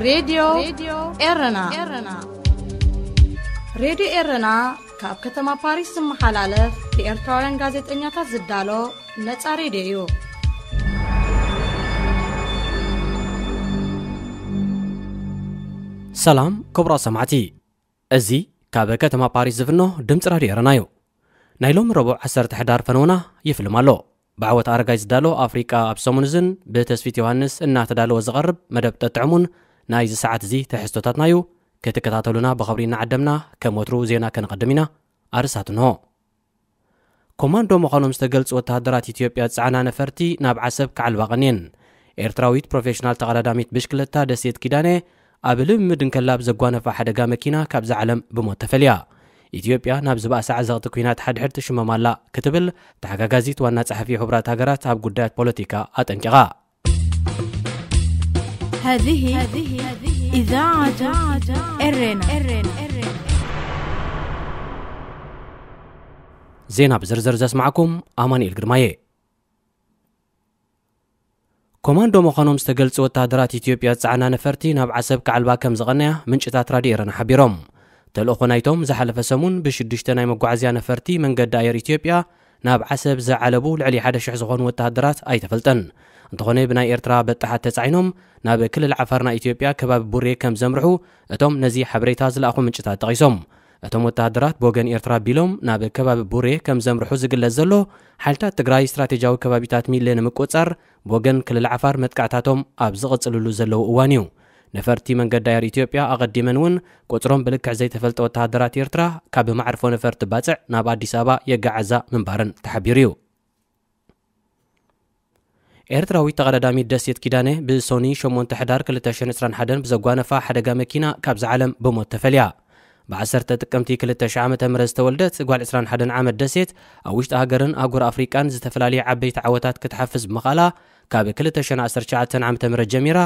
ሬድዮ ኤረና። ሬድዮ ኤረና ካብ ከተማ ፓሪስ ዝመሓላለፍ ብኤርትራውያን ጋዜጠኛታት ዝዳሎ ነጻ ሬድዮ እዩ። ሰላም ክቡራት ሰማዕቲ፣ እዚ ካብ ከተማ ፓሪስ ዝፍኖ ድምፂ ራድዮ ኤረና እዩ። ናይ ሎሚ ረቡዕ ዓሰርተ ሕዳር ፈነውና ይፍልም ኣሎ። ብዓወት ኣረጋይ ዝዳሎ ኣፍሪቃ ኣብ ሰሙን እዝን ብተስፊት ዮሃንስ እናተዳለወ ዝቐርብ መደብ ጠጥዕሙን ናይዚ ሰዓት እዚ ትሕዝቶታትና እዩ። ክትከታተሉና ብኸብሪ እናዓደምና፣ ከም ወትሩ ዜና ከነቐድም ኢና። ኣርስታት እንሆ። ኮማንዶ ምዃኖም ዝተገልጹ ወተሃደራት ኢትዮጵያ ዝጸዓና ነፈርቲ ናብ ዓሰብ ክዓልባ ቀንየን። ኤርትራዊት ፕሮፌሽናል ተቐዳዳሚት ብሽክለታ ደሴት ኪዳነ ኣብ ልምምድ እንከላ ብዘጓነፋ ሓደጋ መኪና ካብዛ ዓለም ብሞት ተፈልያ። ኢትዮጵያ ናብ ዝበኣሰ ዓዘቕቲ ኲናት ሓድሕድ ትሽመም ኣላ ክትብል ተሓጋጋዚት ዋና ጸሓፊ ሕቡራት ሃገራት ኣብ ጉዳያት ፖለቲካ ኣጠንቂቓ። هذه إذاعة إرنا. ዜና ብዝርዝር ዘስማዕኩም ኣማኑኤል ግርማየ። ኮማንዶ ምዃኖም ዝተገልጹ ወተሃደራት ኢትዮጵያ ዝጸዓና ነፈርቲ ናብ ዓሰብ ክዓልባ ከም ዝቐነያ ምንጭታት ራድዮ ኤረና ሓቢሮም። ተልእኾ ናይቶም ዝሓለፈ ሰሙን ብሽዱሽተ ናይ መጓዓዝያ ነፈርቲ መንገዲ ኣየር ኢትዮጵያ ናብ ዓሰብ ዝዓለቡ ልዕሊ ሓደ ሽሕ ዝኾኑ ወተሃደራት ኣይተፈልጠን። እንተኾነ ብናይ ኤርትራ በጣሓት ተጻዒኖም ናብ ክልል ዓፋር ናይ ኢትዮጵያ ከባቢ ቡሬ ከም ዘምርሑ እቶም ነዚ ሓበሬታ ዝለኣኹ ምንጭታት ጠቒሶም። እቶም ወተሃደራት ብወገን ኤርትራ ኣቢሎም ናብ ከባቢ ቡሬ ከም ዘምርሑ ዝግለጽ ዘሎ፣ ሓይልታት ትግራይ ስትራቴጂያዊ ከባቢታት ሚሌ ንምቁጽጻር ብወገን ክልል ዓፋር መጥቃዕታቶም ኣብ ዝቕጽልሉ ዘለዉ እዋን እዩ። ነፈርቲ መንገዲ ኣየር ኢትዮጵያ ኣቐዲመን እውን ቁጽሮም ብልክዕ ዘይተፈልጠ ወተሃደራት ኤርትራ ካብ መዕርፎ ነፈርቲ ባጽዕ ናብ ኣዲስ ኣበባ የጋዓዛ ምንባረን ተሓቢሩ እዩ። ኤርትራዊት ተቐዳዳሚት ደሴት ኪዳነ ብሶኒ ሸሞንተ ሕዳር ክልተ ሽሕን ዕስራን ሓደን ብዘጓነፋ ሓደጋ መኪና ካብዛ ዓለም ብሞት ተፈልያ። ብ ዓሰርተ ጥቅምቲ ክልተ ሽሕ ዓመተ ምህረት ዝተወልደት ጓል ዕስራን ሓደን ዓመት ደሴት ኣብ ውሽጢ ሃገርን ኣህጉር ኣፍሪቃን ዝተፈላለዩ ዓበይቲ ዓወታት ክትሓፍዝ ብምኽኣላ ካብ ክልተ ሽሕን ዓሰርተ ትሽዓተን ዓመተ ምህረት ጀሚራ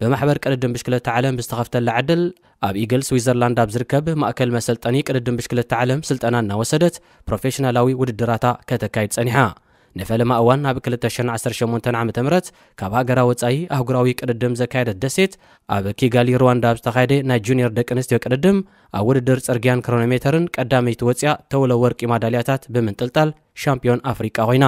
ብማሕበር ቅድድም ብሽክለታ ዓለም ብዝተኸፍተላ ዕድል ኣብ ኢግል ስዊዘርላንድ ኣብ ዝርከብ ማእከል መሰልጠኒ ቅድድም ብሽክለታ ዓለም ስልጠና እናወሰደት ፕሮፌሽናላዊ ውድድራታ ከተካይድ ጸኒሓ። ንፈለማ እዋን ኣብ ክልተ ሽሕን ዓሰርተ ሸሞንተን ዓመተ ምህረት ካብ ሃገራ ወጻኢ ኣህጉራዊ ቅድድም ዘካየደት ደሴት ኣብ ኪጋሊ ሩዋንዳ ኣብ ዝተኻየደ ናይ ጁኒየር ደቂ ኣንስትዮ ቅድድም ኣብ ውድድር ጽርግያን ክሮኖሜተርን ቀዳመይቲ ወጽያ ተውለ ወርቂ ማዳልያታት ብምንጥልጣል ሻምፒዮን ኣፍሪቃ ኮይና።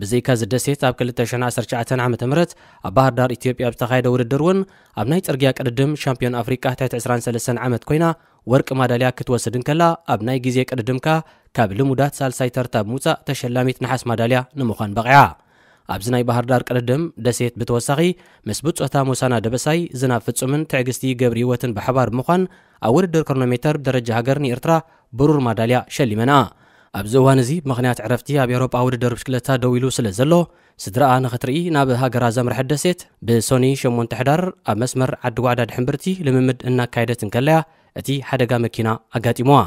ብዘይካ እዚ ደሴት ኣብ ክልተ ሽሕን ዓሰርተ ትሽዓተን ዓመተ ምህረት ኣብ ባህር ዳር ኢትዮጵያ ኣብ ዝተኻየደ ውድድር እውን ኣብ ናይ ጽርግያ ቅድድም ሻምፒዮን ኣፍሪቃ ትሕቲ ዕስራን ሰለስተን ዓመት ኮይና ወርቂ ማዳልያ ክትወስድ እንከላ ኣብ ናይ ግዜ ቅድድምካ ካብ ልሙዳት ሳልሳይ ተርታ ብምውጻእ ተሸላሚት ነሓስ ማዳልያ ንምዃን በቒዓ። ኣብዚ ናይ ባህር ዳር ቅድድም ደሴት ብተወሳኺ ምስ ብጾታ ሞሳና ደበሳይ፣ ዝናብ ፍጹምን ትዕግስቲ ገብረ ህይወትን ብሓባር ብምዃን ኣብ ውድድር ክሮኖሜተር ብደረጃ ሃገር ንኤርትራ ብሩር ማዳልያ ሸሊመንኣ። ኣብዚ እዋን እዚ ብምኽንያት ዕረፍቲ ኣብ ኤውሮጳ ውድድር ብሽክለታ ደው ኢሉ ስለ ዘሎ ስድራኣ ንኽትርኢ ናብ ሃገራ ዘምርሐት ደሴት ብሶኒ ሸሞንተ ሕዳር ኣብ መስመር ዓዲ ጓዕዳ ድሕንብርቲ ልምምድ እናካየደት እንከለያ እቲ ሓደጋ መኪና ኣጋጢምዋ።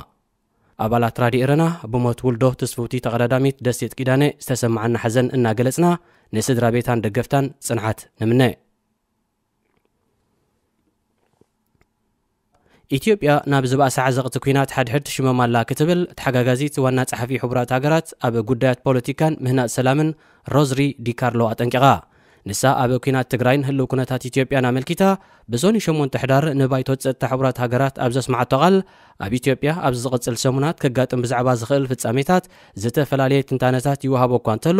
ኣባላት ራድዮ ኤረና ብሞት ውልዶ ትስፍውቲ ተቐዳዳሚት ደሴት ኪዳነ ዝተሰማዓና ሓዘን እናገለጽና ንስድራ ቤታን ደገፍታን ጽንዓት ንምነ። ኢትዮጵያ ናብ ዝበኣሰ ዓዘቕቲ ኲናት ሓድሕድ ትሽመም ኣላ ክትብል ተሓጋጋዚት ዋና ጸሓፊ ሕቡራት ሃገራት ኣብ ጉዳያት ፖለቲካን ምህናጽ ሰላምን ሮዝሪ ዲካርሎ ኣጠንቂቓ። ንሳ ኣብ ኲናት ትግራይን ህልው ኩነታት ኢትዮጵያን ኣመልኪታ ብሶኒ ሸሞንተ ሕዳር ንባይቶ ጸጥታ ሕቡራት ሃገራት ኣብ ዘስማዓቶ ቃል ኣብ ኢትዮጵያ ኣብዚ ዝቕጽል ሰሙናት ከጋጥም ብዛዕባ ዝኽእል ፍጻሜታት ዝተፈላለየ ትንታነታት ይወሃቦ እኳ እንተሎ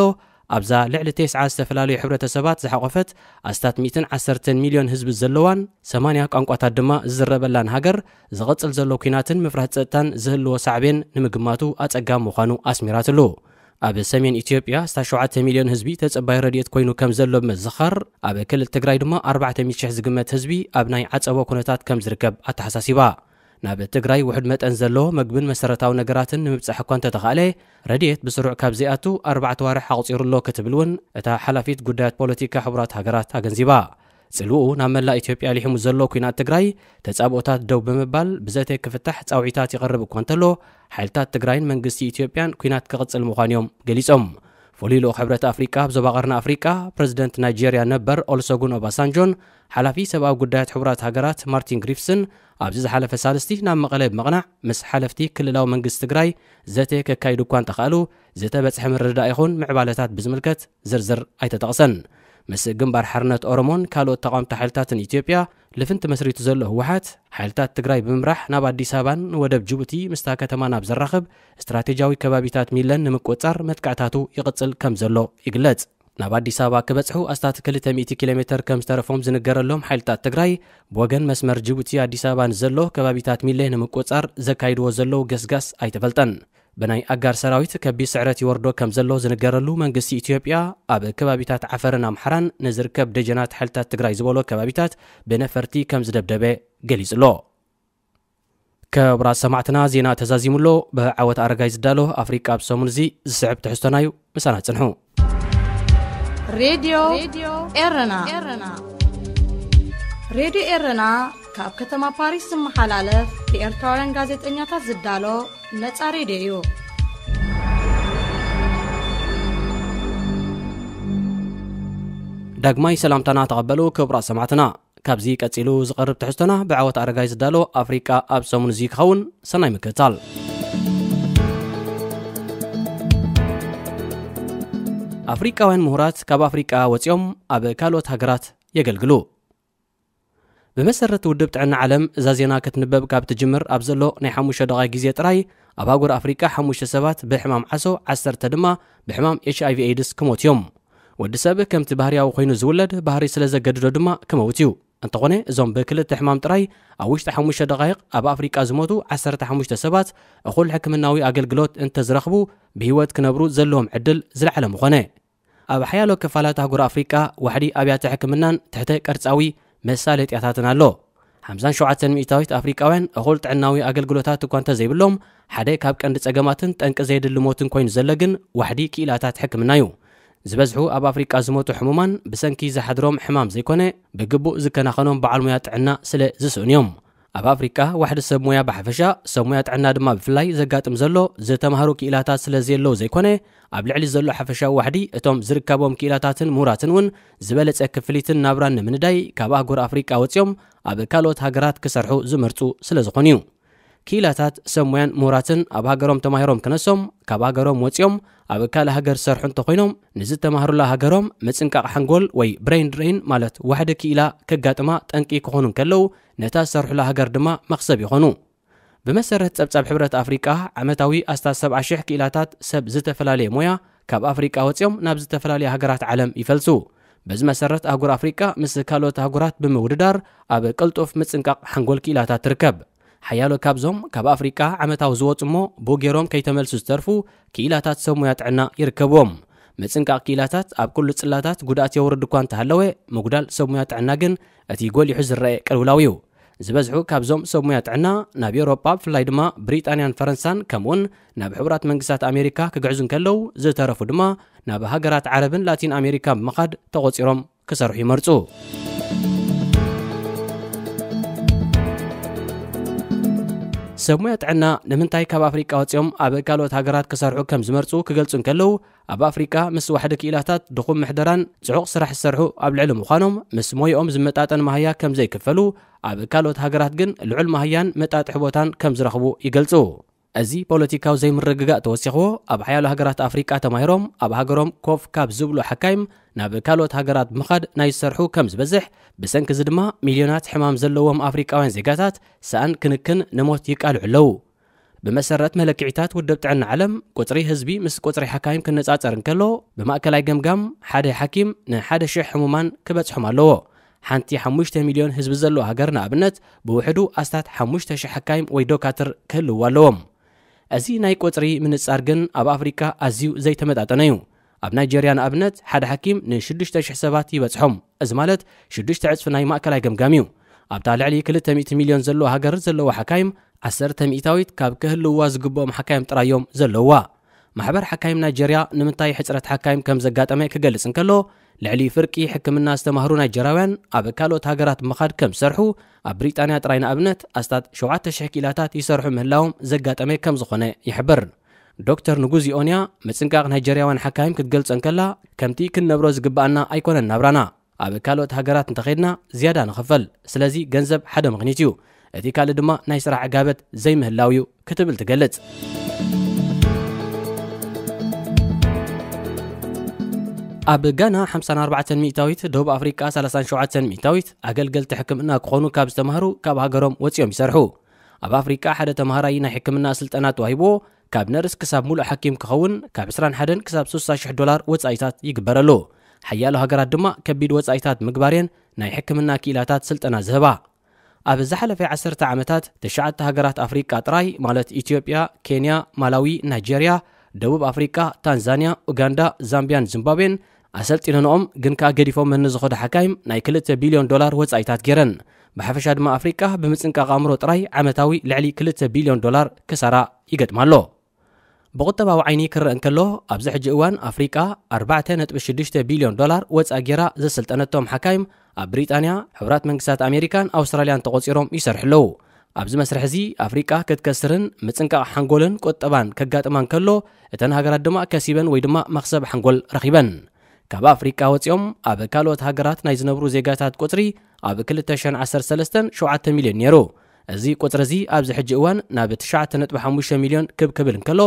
ኣብዛ ልዕሊ ተስዓ ዝተፈላለዩ ሕብረተሰባት ዝሓቖፈት ኣስታት ሚእትን ዓሰርተን ሚልዮን ህዝቢ ዘለዋን ሰማንያ ቋንቋታት ድማ ዝዝረበላን ሃገር ዝቕጽል ዘሎ ኲናትን ምፍራህ ጸጥታን ዝህልዎ ሳዕቤን ንምግማቱ ኣጸጋሚ ምዃኑ ኣስሚራትሉ። ኣብ ሰሜን ኢትዮጵያ ኣስታት ሸውዓተ ሚልዮን ህዝቢ ተጸባይ ረድኤት ኮይኑ ከም ዘሎ ብምዝኻር ኣብ ክልል ትግራይ ድማ ኣርባዕተ ሚእቲ ሽሕ ዝግመት ህዝቢ ኣብ ናይ ዓጸቦ ኩነታት ከም ዝርከብ ኣተሓሳሲባ። ናብ ትግራይ ውሑድ መጠን ዘሎ መግብን መሰረታዊ ነገራትን ንምብጻሕ እኳ እንተተኻእለ ረድኤት ብስሩዕ ካብ ዘይኣቱ ኣርባዕተ ዋርሕ ኣቑጺሩ ኣሎ ክትብል እውን እታ ሓላፊት ጉዳያት ፖለቲካ ሕቡራት ሃገራት ኣገንዚባ። ጽልውኡ ናብ መላእ ኢትዮጵያ ሊሒሙ ዘሎ ኲናት ትግራይ ተጻብኦታት ደው ብምባል ብዘተ ክፍታሕ ጻውዒታት ይቐርብ እኳ እንተሎ ሓይልታት ትግራይን መንግስቲ ኢትዮጵያን ኲናት ክቕጽል ምዃኑ እዮም ገሊጾም። ፍሉይ ልኡኽ ሕብረት ኣፍሪቃ ኣብ ዞባ ቀርኒ ኣፍሪቃ ፕረዚደንት ናይጄርያ ነበር ኦልሰጉን ኦባሳንጆን ሓላፊ ሰብኣዊ ጉዳያት ሕቡራት ሃገራት ማርቲን ግሪፍስን ኣብዚ ዝሓለፈ ሳልስቲ ናብ መቐለ ብምቕናዕ ምስ ሓለፍቲ ክልላዊ መንግስቲ ትግራይ ዘተ ከካይዱ እኳ እንተኸኣሉ ዝተበጽሐ ምርድዳእ ይኹን ምዕባለታት ብዝምልከት ዝርዝር ኣይተጠቕሰን። ምስ ግንባር ሓርነት ኦሮሞን ካልኦት ተቓወምቲ ሓይልታትን ኢትዮጵያ ልፍንቲ መስሪቱ ዘሎ ህወሓት፣ ሓይልታት ትግራይ ብምምራሕ ናብ ኣዲስ ኣበባን ወደብ ጅቡቲ ምስታ ከተማ ናብ ዘራኽብ ስትራቴጂያዊ ከባቢታት ሚለን ንምቁጽጻር መጥቃዕታቱ ይቕጽል ከም ዘሎ ይግለጽ። ናብ ኣዲስ ኣበባ ክበጽሑ ኣስታት ክልተ ሚእቲ ኪሎ ሜተር ከም ዝተረፎም ዝንገረሎም ሓይልታት ትግራይ፣ ብወገን መስመር ጅቡቲ ኣዲስ ኣበባ ንዘሎ ከባቢታት ሚለ ንምቁጽጻር ዘካይድዎ ዘለዉ ገስጋስ ኣይተፈልጠን። ብናይ ኣጋር ሰራዊት ከቢድ ስዕረት ይወርዶ ከም ዘሎ ዝንገረሉ መንግስቲ ኢትዮጵያ፣ ኣብ ከባቢታት ዓፈርን ኣምሓራን ንዝርከብ ደጀናት ሓይልታት ትግራይ ዝበሎ ከባቢታት ብነፈርቲ ከም ዝደብደበ ገሊጹ ኣሎ። ክቡራት ሰማዕትና፣ ዜና ተዛዚሙ ኣሎ። ብዓወት ኣረጋይ ዝዳሎ ኣፍሪቃ ኣብ ሰሙን እዚ ዝስዕብ ትሕዝቶና እዩ። ምሳና ጽንሑ። ሬድዮ ኤረና። ሬድዮ ኤረና ካብ ከተማ ፓሪስ ዝመሓላለፍ ብኤርትራውያን ጋዜጠኛታት ዝዳሎ ነጻ ሬድዮ እዩ። ዳግማይ ሰላምታና ተቐበሉ ክቡራት ሰማዕትና። ካብዚ ቀጺሉ ዝቐርብ ትሕዝቶና ብዓወት ኣረጋይ ዝዳሎ ኣፍሪቃ ኣብ ሰሙን እዚ ክኸውን። ሰናይ ምክትታል። ኣፍሪቃውያን ምሁራት ካብ ኣፍሪቃ ወጺኦም ኣብ ካልኦት ሃገራት የገልግሉ። ብመሰረት ውድብ ጥዕና ዓለም፣ እዛ ዜና ክትንበብ ካብ ትጅምር ኣብ ዘሎ ናይ ሓሙሽተ ደቓይ ግዜ ጥራይ፣ ኣብ ኣህጉር ኣፍሪቃ ሓሙሽተ ሰባት ብሕማም ዓሶ፣ ዓሰርተ ድማ ብሕማም ኤች ኣይ ቪ ኤድስ ክሞቱ እዮም። ወዲ ሰብ ከምቲ ባህርያዊ ኮይኑ ዝውለድ፣ ባህሪ ስለ ዘገድዶ ድማ ክመውት እዩ። እንተኾነ፣ እዞም ብክልተ ሕማም ጥራይ ኣብ ውሽጢ ሓሙሽተ ደቓይቕ ኣብ ኣፍሪቃ ዝሞቱ ዓሰርተ ሓሙሽተ ሰባት፣ እኹል ሕክምናዊ ኣገልግሎት እንተዝረኽቡ፣ ብህይወት ክነብሩ ዘለዎም ዕድል ዝለዓለ ምኾነ። ኣብ ሓያሎ ክፋላት ኣህጉር ኣፍሪቃ ዋሕዲ ኣብያተ ሕክምናን ትሕተ ቅርጻዊ መሳለጥያታትን ኣሎ። ሓምሳን ሸውዓተን ሚእታዊት ኣፍሪቃውያን እኹል ጥዕናዊ ኣገልግሎታት እኳ እንተዘይብሎም፣ ሓደ ካብ ቀንዲ ጸገማትን ጠንቂ ዘየድሊ ሞትን ኮይኑ ዘሎ ግን ዋሕዲ ክኢላታት ሕክምና እዩ። ዝበዝሑ ኣብ ኣፍሪቃ ዝሞቱ ሕሙማን ብሰንኪ ዝሓድሮም ሕማም ዘይኮነ፣ ብግቡእ ዝከናኸኖም በዓል ሞያ ጥዕና ስለ ዝስእኑ እዮም። ኣብ ኣፍሪቃ ዋሕዲ ሰብ ሞያ ብሓፈሻ፣ ሰብ ሞያ ጥዕና ድማ ብፍላይ ዘጋጥም ዘሎ፣ ዝተማህሩ ክኢላታት ስለ ዘየለዉ ዘይኮነ፣ ኣብ ልዕሊ ዘሎ ሓፈሻዊ ዋሕዲ እቶም ዝርከቦም ክኢላታትን ምሁራትን እውን ዝበለጸ ክፍሊትን ናብራን ንምንዳይ ካብ ኣህጉር ኣፍሪቃ ወጺኦም ኣብ ካልኦት ሃገራት ክሰርሑ ዝመርጹ ስለ ዝኾኑ እዩ። ክኢላታት ሰብ ሞያን ምሁራትን ኣብ ሃገሮም ተማሂሮም ክነሶም፣ ካብ ሃገሮም ወጺኦም ኣብ ካልእ ሃገር ዝሰርሑ እንተኾይኖም፣ ንዝተማህሩላ ሃገሮም ምጽንቃቕ ሓንጎል ወይ ብሬን ድሬን ማለት ዋሕዲ ክኢላ ከጋጥማ ጠንቂ ክኾኑ እንከለዉ፣ ነታ ዝሰርሑላ ሃገር ድማ መኽሰብ ይኾኑ። ብመሰረት ጸብጻብ ሕብረት ኣፍሪቃ፣ ዓመታዊ ኣስታት ሰብዓ ሽሕ ክኢላታት ሰብ ዝተፈላለየ ሞያ ካብ ኣፍሪቃ ወጺኦም ናብ ዝተፈላለያ ሃገራት ዓለም ይፈልሱ። በዚ መሰረት ኣህጉር ኣፍሪቃ ምስ ካልኦት ኣህጉራት ብምውድዳር ኣብ ቅልጡፍ ምጽንቃቕ ሓንጎል ክኢላታት ትርከብ። ሓያሎ ካብዞም ካብ ኣፍሪቃ ዓመታዊ ዝወጹ እሞ ብኡ ገይሮም ከይተመልሱ ዝተርፉ ክኢላታት ሰብ ሞያ ጥዕና ይርከብዎም። ምጽንቃቕ ክኢላታት ኣብ ኩሉ ጽላታት ጉድኣት የውርድ እኳ እንተሃለወ፣ ምጉዳል ሰብ ሞያ ጥዕና ግን እቲ ጎሊሑ ዝረአ ቅልውላው እዩ። ዝበዝሑ ካብዞም ሰብ ሞያ ጥዕና ናብ ኤውሮጳ፣ ብፍላይ ድማ ብሪጣንያን ፈረንሳን፣ ከምኡውን ናብ ሕቡራት መንግስታት ኣሜሪካ ክግዕዙ እንከለዉ፣ ዝተረፉ ድማ ናብ ሃገራት ዓረብን ላቲን ኣሜሪካን ብምኻድ ተቖጺሮም ክሰርሑ ይመርጹ። ሰብ ሞያ ጥዕና ንምንታይ ካብ ኣፍሪቃ ወጺኦም ኣብ ካልኦት ሃገራት ክሰርሑ ከም ዝመርጹ ክገልጹ እንከለዉ፣ ኣብ ኣፍሪቃ ምስ ዋሕዲ ክኢላታት ድኹም ምሕደራን ጽዑቕ ስራሕ ዝሰርሑ ኣብ ልዕሊ ምዃኖም፣ ምስ ሞይኦም ዝመጣጠን ማህያ ከም ዘይክፈሉ፣ ኣብ ካልኦት ሃገራት ግን ልዑል ማህያን መጣጥሒ ቦታን ከም ዝረኽቡ ይገልጹ። እዚ ፖለቲካዊ ዘይምርግጋእ ተወሲኽዎ፣ ኣብ ሓያሎ ሃገራት ኣፍሪቃ ተማሂሮም ኣብ ሃገሮም ኮፍ ካብ ዝብሉ ሓካይም ናብ ካልኦት ሃገራት ብምኻድ ናይ ዝሰርሑ ከም ዝበዝሕ፣ ብሰንኪ እዚ ድማ ሚልዮናት ሕማም ዘለዎም ኣፍሪቃውያን ዜጋታት ሰኣን ክንክን ንሞት ይቃልዑ ኣለዉ። ብመሰረት መለክዒታት ውድብ ጥዕና ዓለም፣ ቁጽሪ ህዝቢ ምስ ቁጽሪ ሓካይም ክነጻጸር እንከሎ፣ ብማእከላይ ገምጋም ሓደ ሓኪም ንሓደ ሽሕ ሕሙማን ክበጽሖም ኣለዎ። ሓንቲ ሓሙሽተ ሚልዮን ህዝቢ ዘለዋ ሃገር ንኣብነት፣ ብውሕዱ ኣስታት ሓሙሽተ ሽሕ ሓካይም ወይ ዶካትር ክህልውዋ ኣለዎም። እዚ ናይ ቁጽሪ ምንጻር ግን ኣብ ኣፍሪቃ ኣዝዩ ዘይተመጣጠነ እዩ። ኣብ ናይጀርያ ንኣብነት፣ ሓደ ሓኪም ንሽዱሽተ ሽሕ ሰባት ይበጽሖም። እዚ ማለት ሽዱሽተ ዕጽፊ ናይ ማእከላይ ገምጋም እዩ። ኣብታ ልዕሊ ክልተ ሚእቲ ሚልዮን ዘለዋ ሃገር ዘለዋ ሓካይም፣ ዓሰርተ ሚእታዊት ካብ ክህልውዋ ዝግብኦም ሓካይም ጥራይ እዮም ዘለውዋ። ማሕበር ሓካይም ናይጀርያ ንምንታይ ሕጽረት ሓካይም ከም ዘጋጠመ ክገልጽ እንከሎ፣ ልዕሊ ፍርቂ ሕክምና ዝተማህሩ ናይጀርያውያን ኣብ ካልኦት ሃገራት ብምኻድ ከም ዝሰርሑ፣ ኣብ ብሪጣንያ ጥራይ ንኣብነት ኣስታት ሸውዓተ ሽሕ ክኢላታት ይሰርሑ ምህላዎም ዘጋጠመ ከም ዝኾነ ይሕብር። ዶክተር ንጉዚ ኦንያ ምጽንቃቕ ናይጀርያውያን ሓካይም ክትገልጾ እንከላ፣ ከምቲ ክንነብሮ ዝግብኣና ኣይኮነን ናብራና። ኣብ ካልኦት ሃገራት እንተኸድና ዝያዳ ንኽፈል። ስለዚ ገንዘብ ሓደ ምኽኒት እዩ። እቲ ካልእ ድማ ናይ ስራሕ ዕጋበት ዘይምህላው እዩ ክትብል ትገልጽ። ኣብ ጋና ሓምሳን ኣርባዕተን ሚእታዊት፣ ደቡብ ኣፍሪቃ ሰላሳን ሸውዓተን ሚእታዊት ኣገልገልቲ ሕክምና ክኾኑ ካብ ዝተማህሩ ካብ ሃገሮም ወጺኦም ይሰርሑ። ኣብ ኣፍሪቃ ሓደ ተማሃራይ ናይ ሕክምና ስልጠና ተዋሂብዎ ካብ ነርስ ክሳብ ሙሉእ ሓኪም ክኸውን ካብ ዕስራን ሓደን ክሳብ ስሳ ሽሕ ዶላር ወጻኢታት ይግበረሉ። ሓያሎ ሃገራት ድማ ከቢድ ወጻኢታት ምግባርየን ናይ ሕክምና ክኢላታት ስልጠና ዝህባ። ኣብ ዝሓለፈ ዓሰርተ ዓመታት፣ ትሽዓተ ሃገራት ኣፍሪቃ ጥራይ፣ ማለት ኢትዮጵያ፣ ኬንያ፣ ማላዊ፣ ናይጄርያ፣ ደቡብ ኣፍሪቃ፣ ታንዛንያ፣ ኡጋንዳ፣ ዛምቢያን ዚምባብዌን ኣሰልጢነንኦም፣ ግን ከኣ ገዲፎም ንዝኸዱ ሓካይም ናይ ክልተ ቢልዮን ዶላር ወጻኢታት ገይረን። ብሓፈሻ ድማ ኣፍሪቃ ብምጽንቃቕ ኣእምሮ ጥራይ ዓመታዊ ልዕሊ ክልተ ቢልዮን ዶላር ክሳራ ይገጥማ ኣሎ። ብቁጠባዊ ዓይኒ ክረአ እንከሎ፣ ኣብዚ ሕጂ እዋን ኣፍሪቃ ኣርባዕተ ነጥቢ ሽዱሽተ ቢልዮን ዶላር ወጻኢ ጌራ ዘሰልጠነቶም ሓካይም ኣብ ብሪጣንያ፣ ሕቡራት መንግስታት ኣሜሪካን ኣውስትራልያን ተቖጺሮም ይሰርሑ ኣለዉ። ኣብዚ መስርሕ እዚ ኣፍሪቃ ክትከስርን ምጽንቃቕ ሓንጎልን ቁጠባን ከጋጥማ እንከሎ፣ እተን ሃገራት ድማ ከሲበን ወይ ድማ መኽሰብ ሓንጎል ረኺበን። ካብ ኣፍሪቃ ወጺኦም ኣብ ካልኦት ሃገራት ናይ ዝነብሩ ዜጋታት ቁጽሪ ኣብ ክልተ ሽሕን ዓሰርተ ሰለስተን ሸውዓተ ሚልዮን ነይሩ። እዚ ቁጽሪ እዚ ኣብዚ ሕጂ እዋን ናብ ትሽዓተ ነጥቢ ሓሙሽተ ሚልዮን ክብ ክብል እንከሎ፣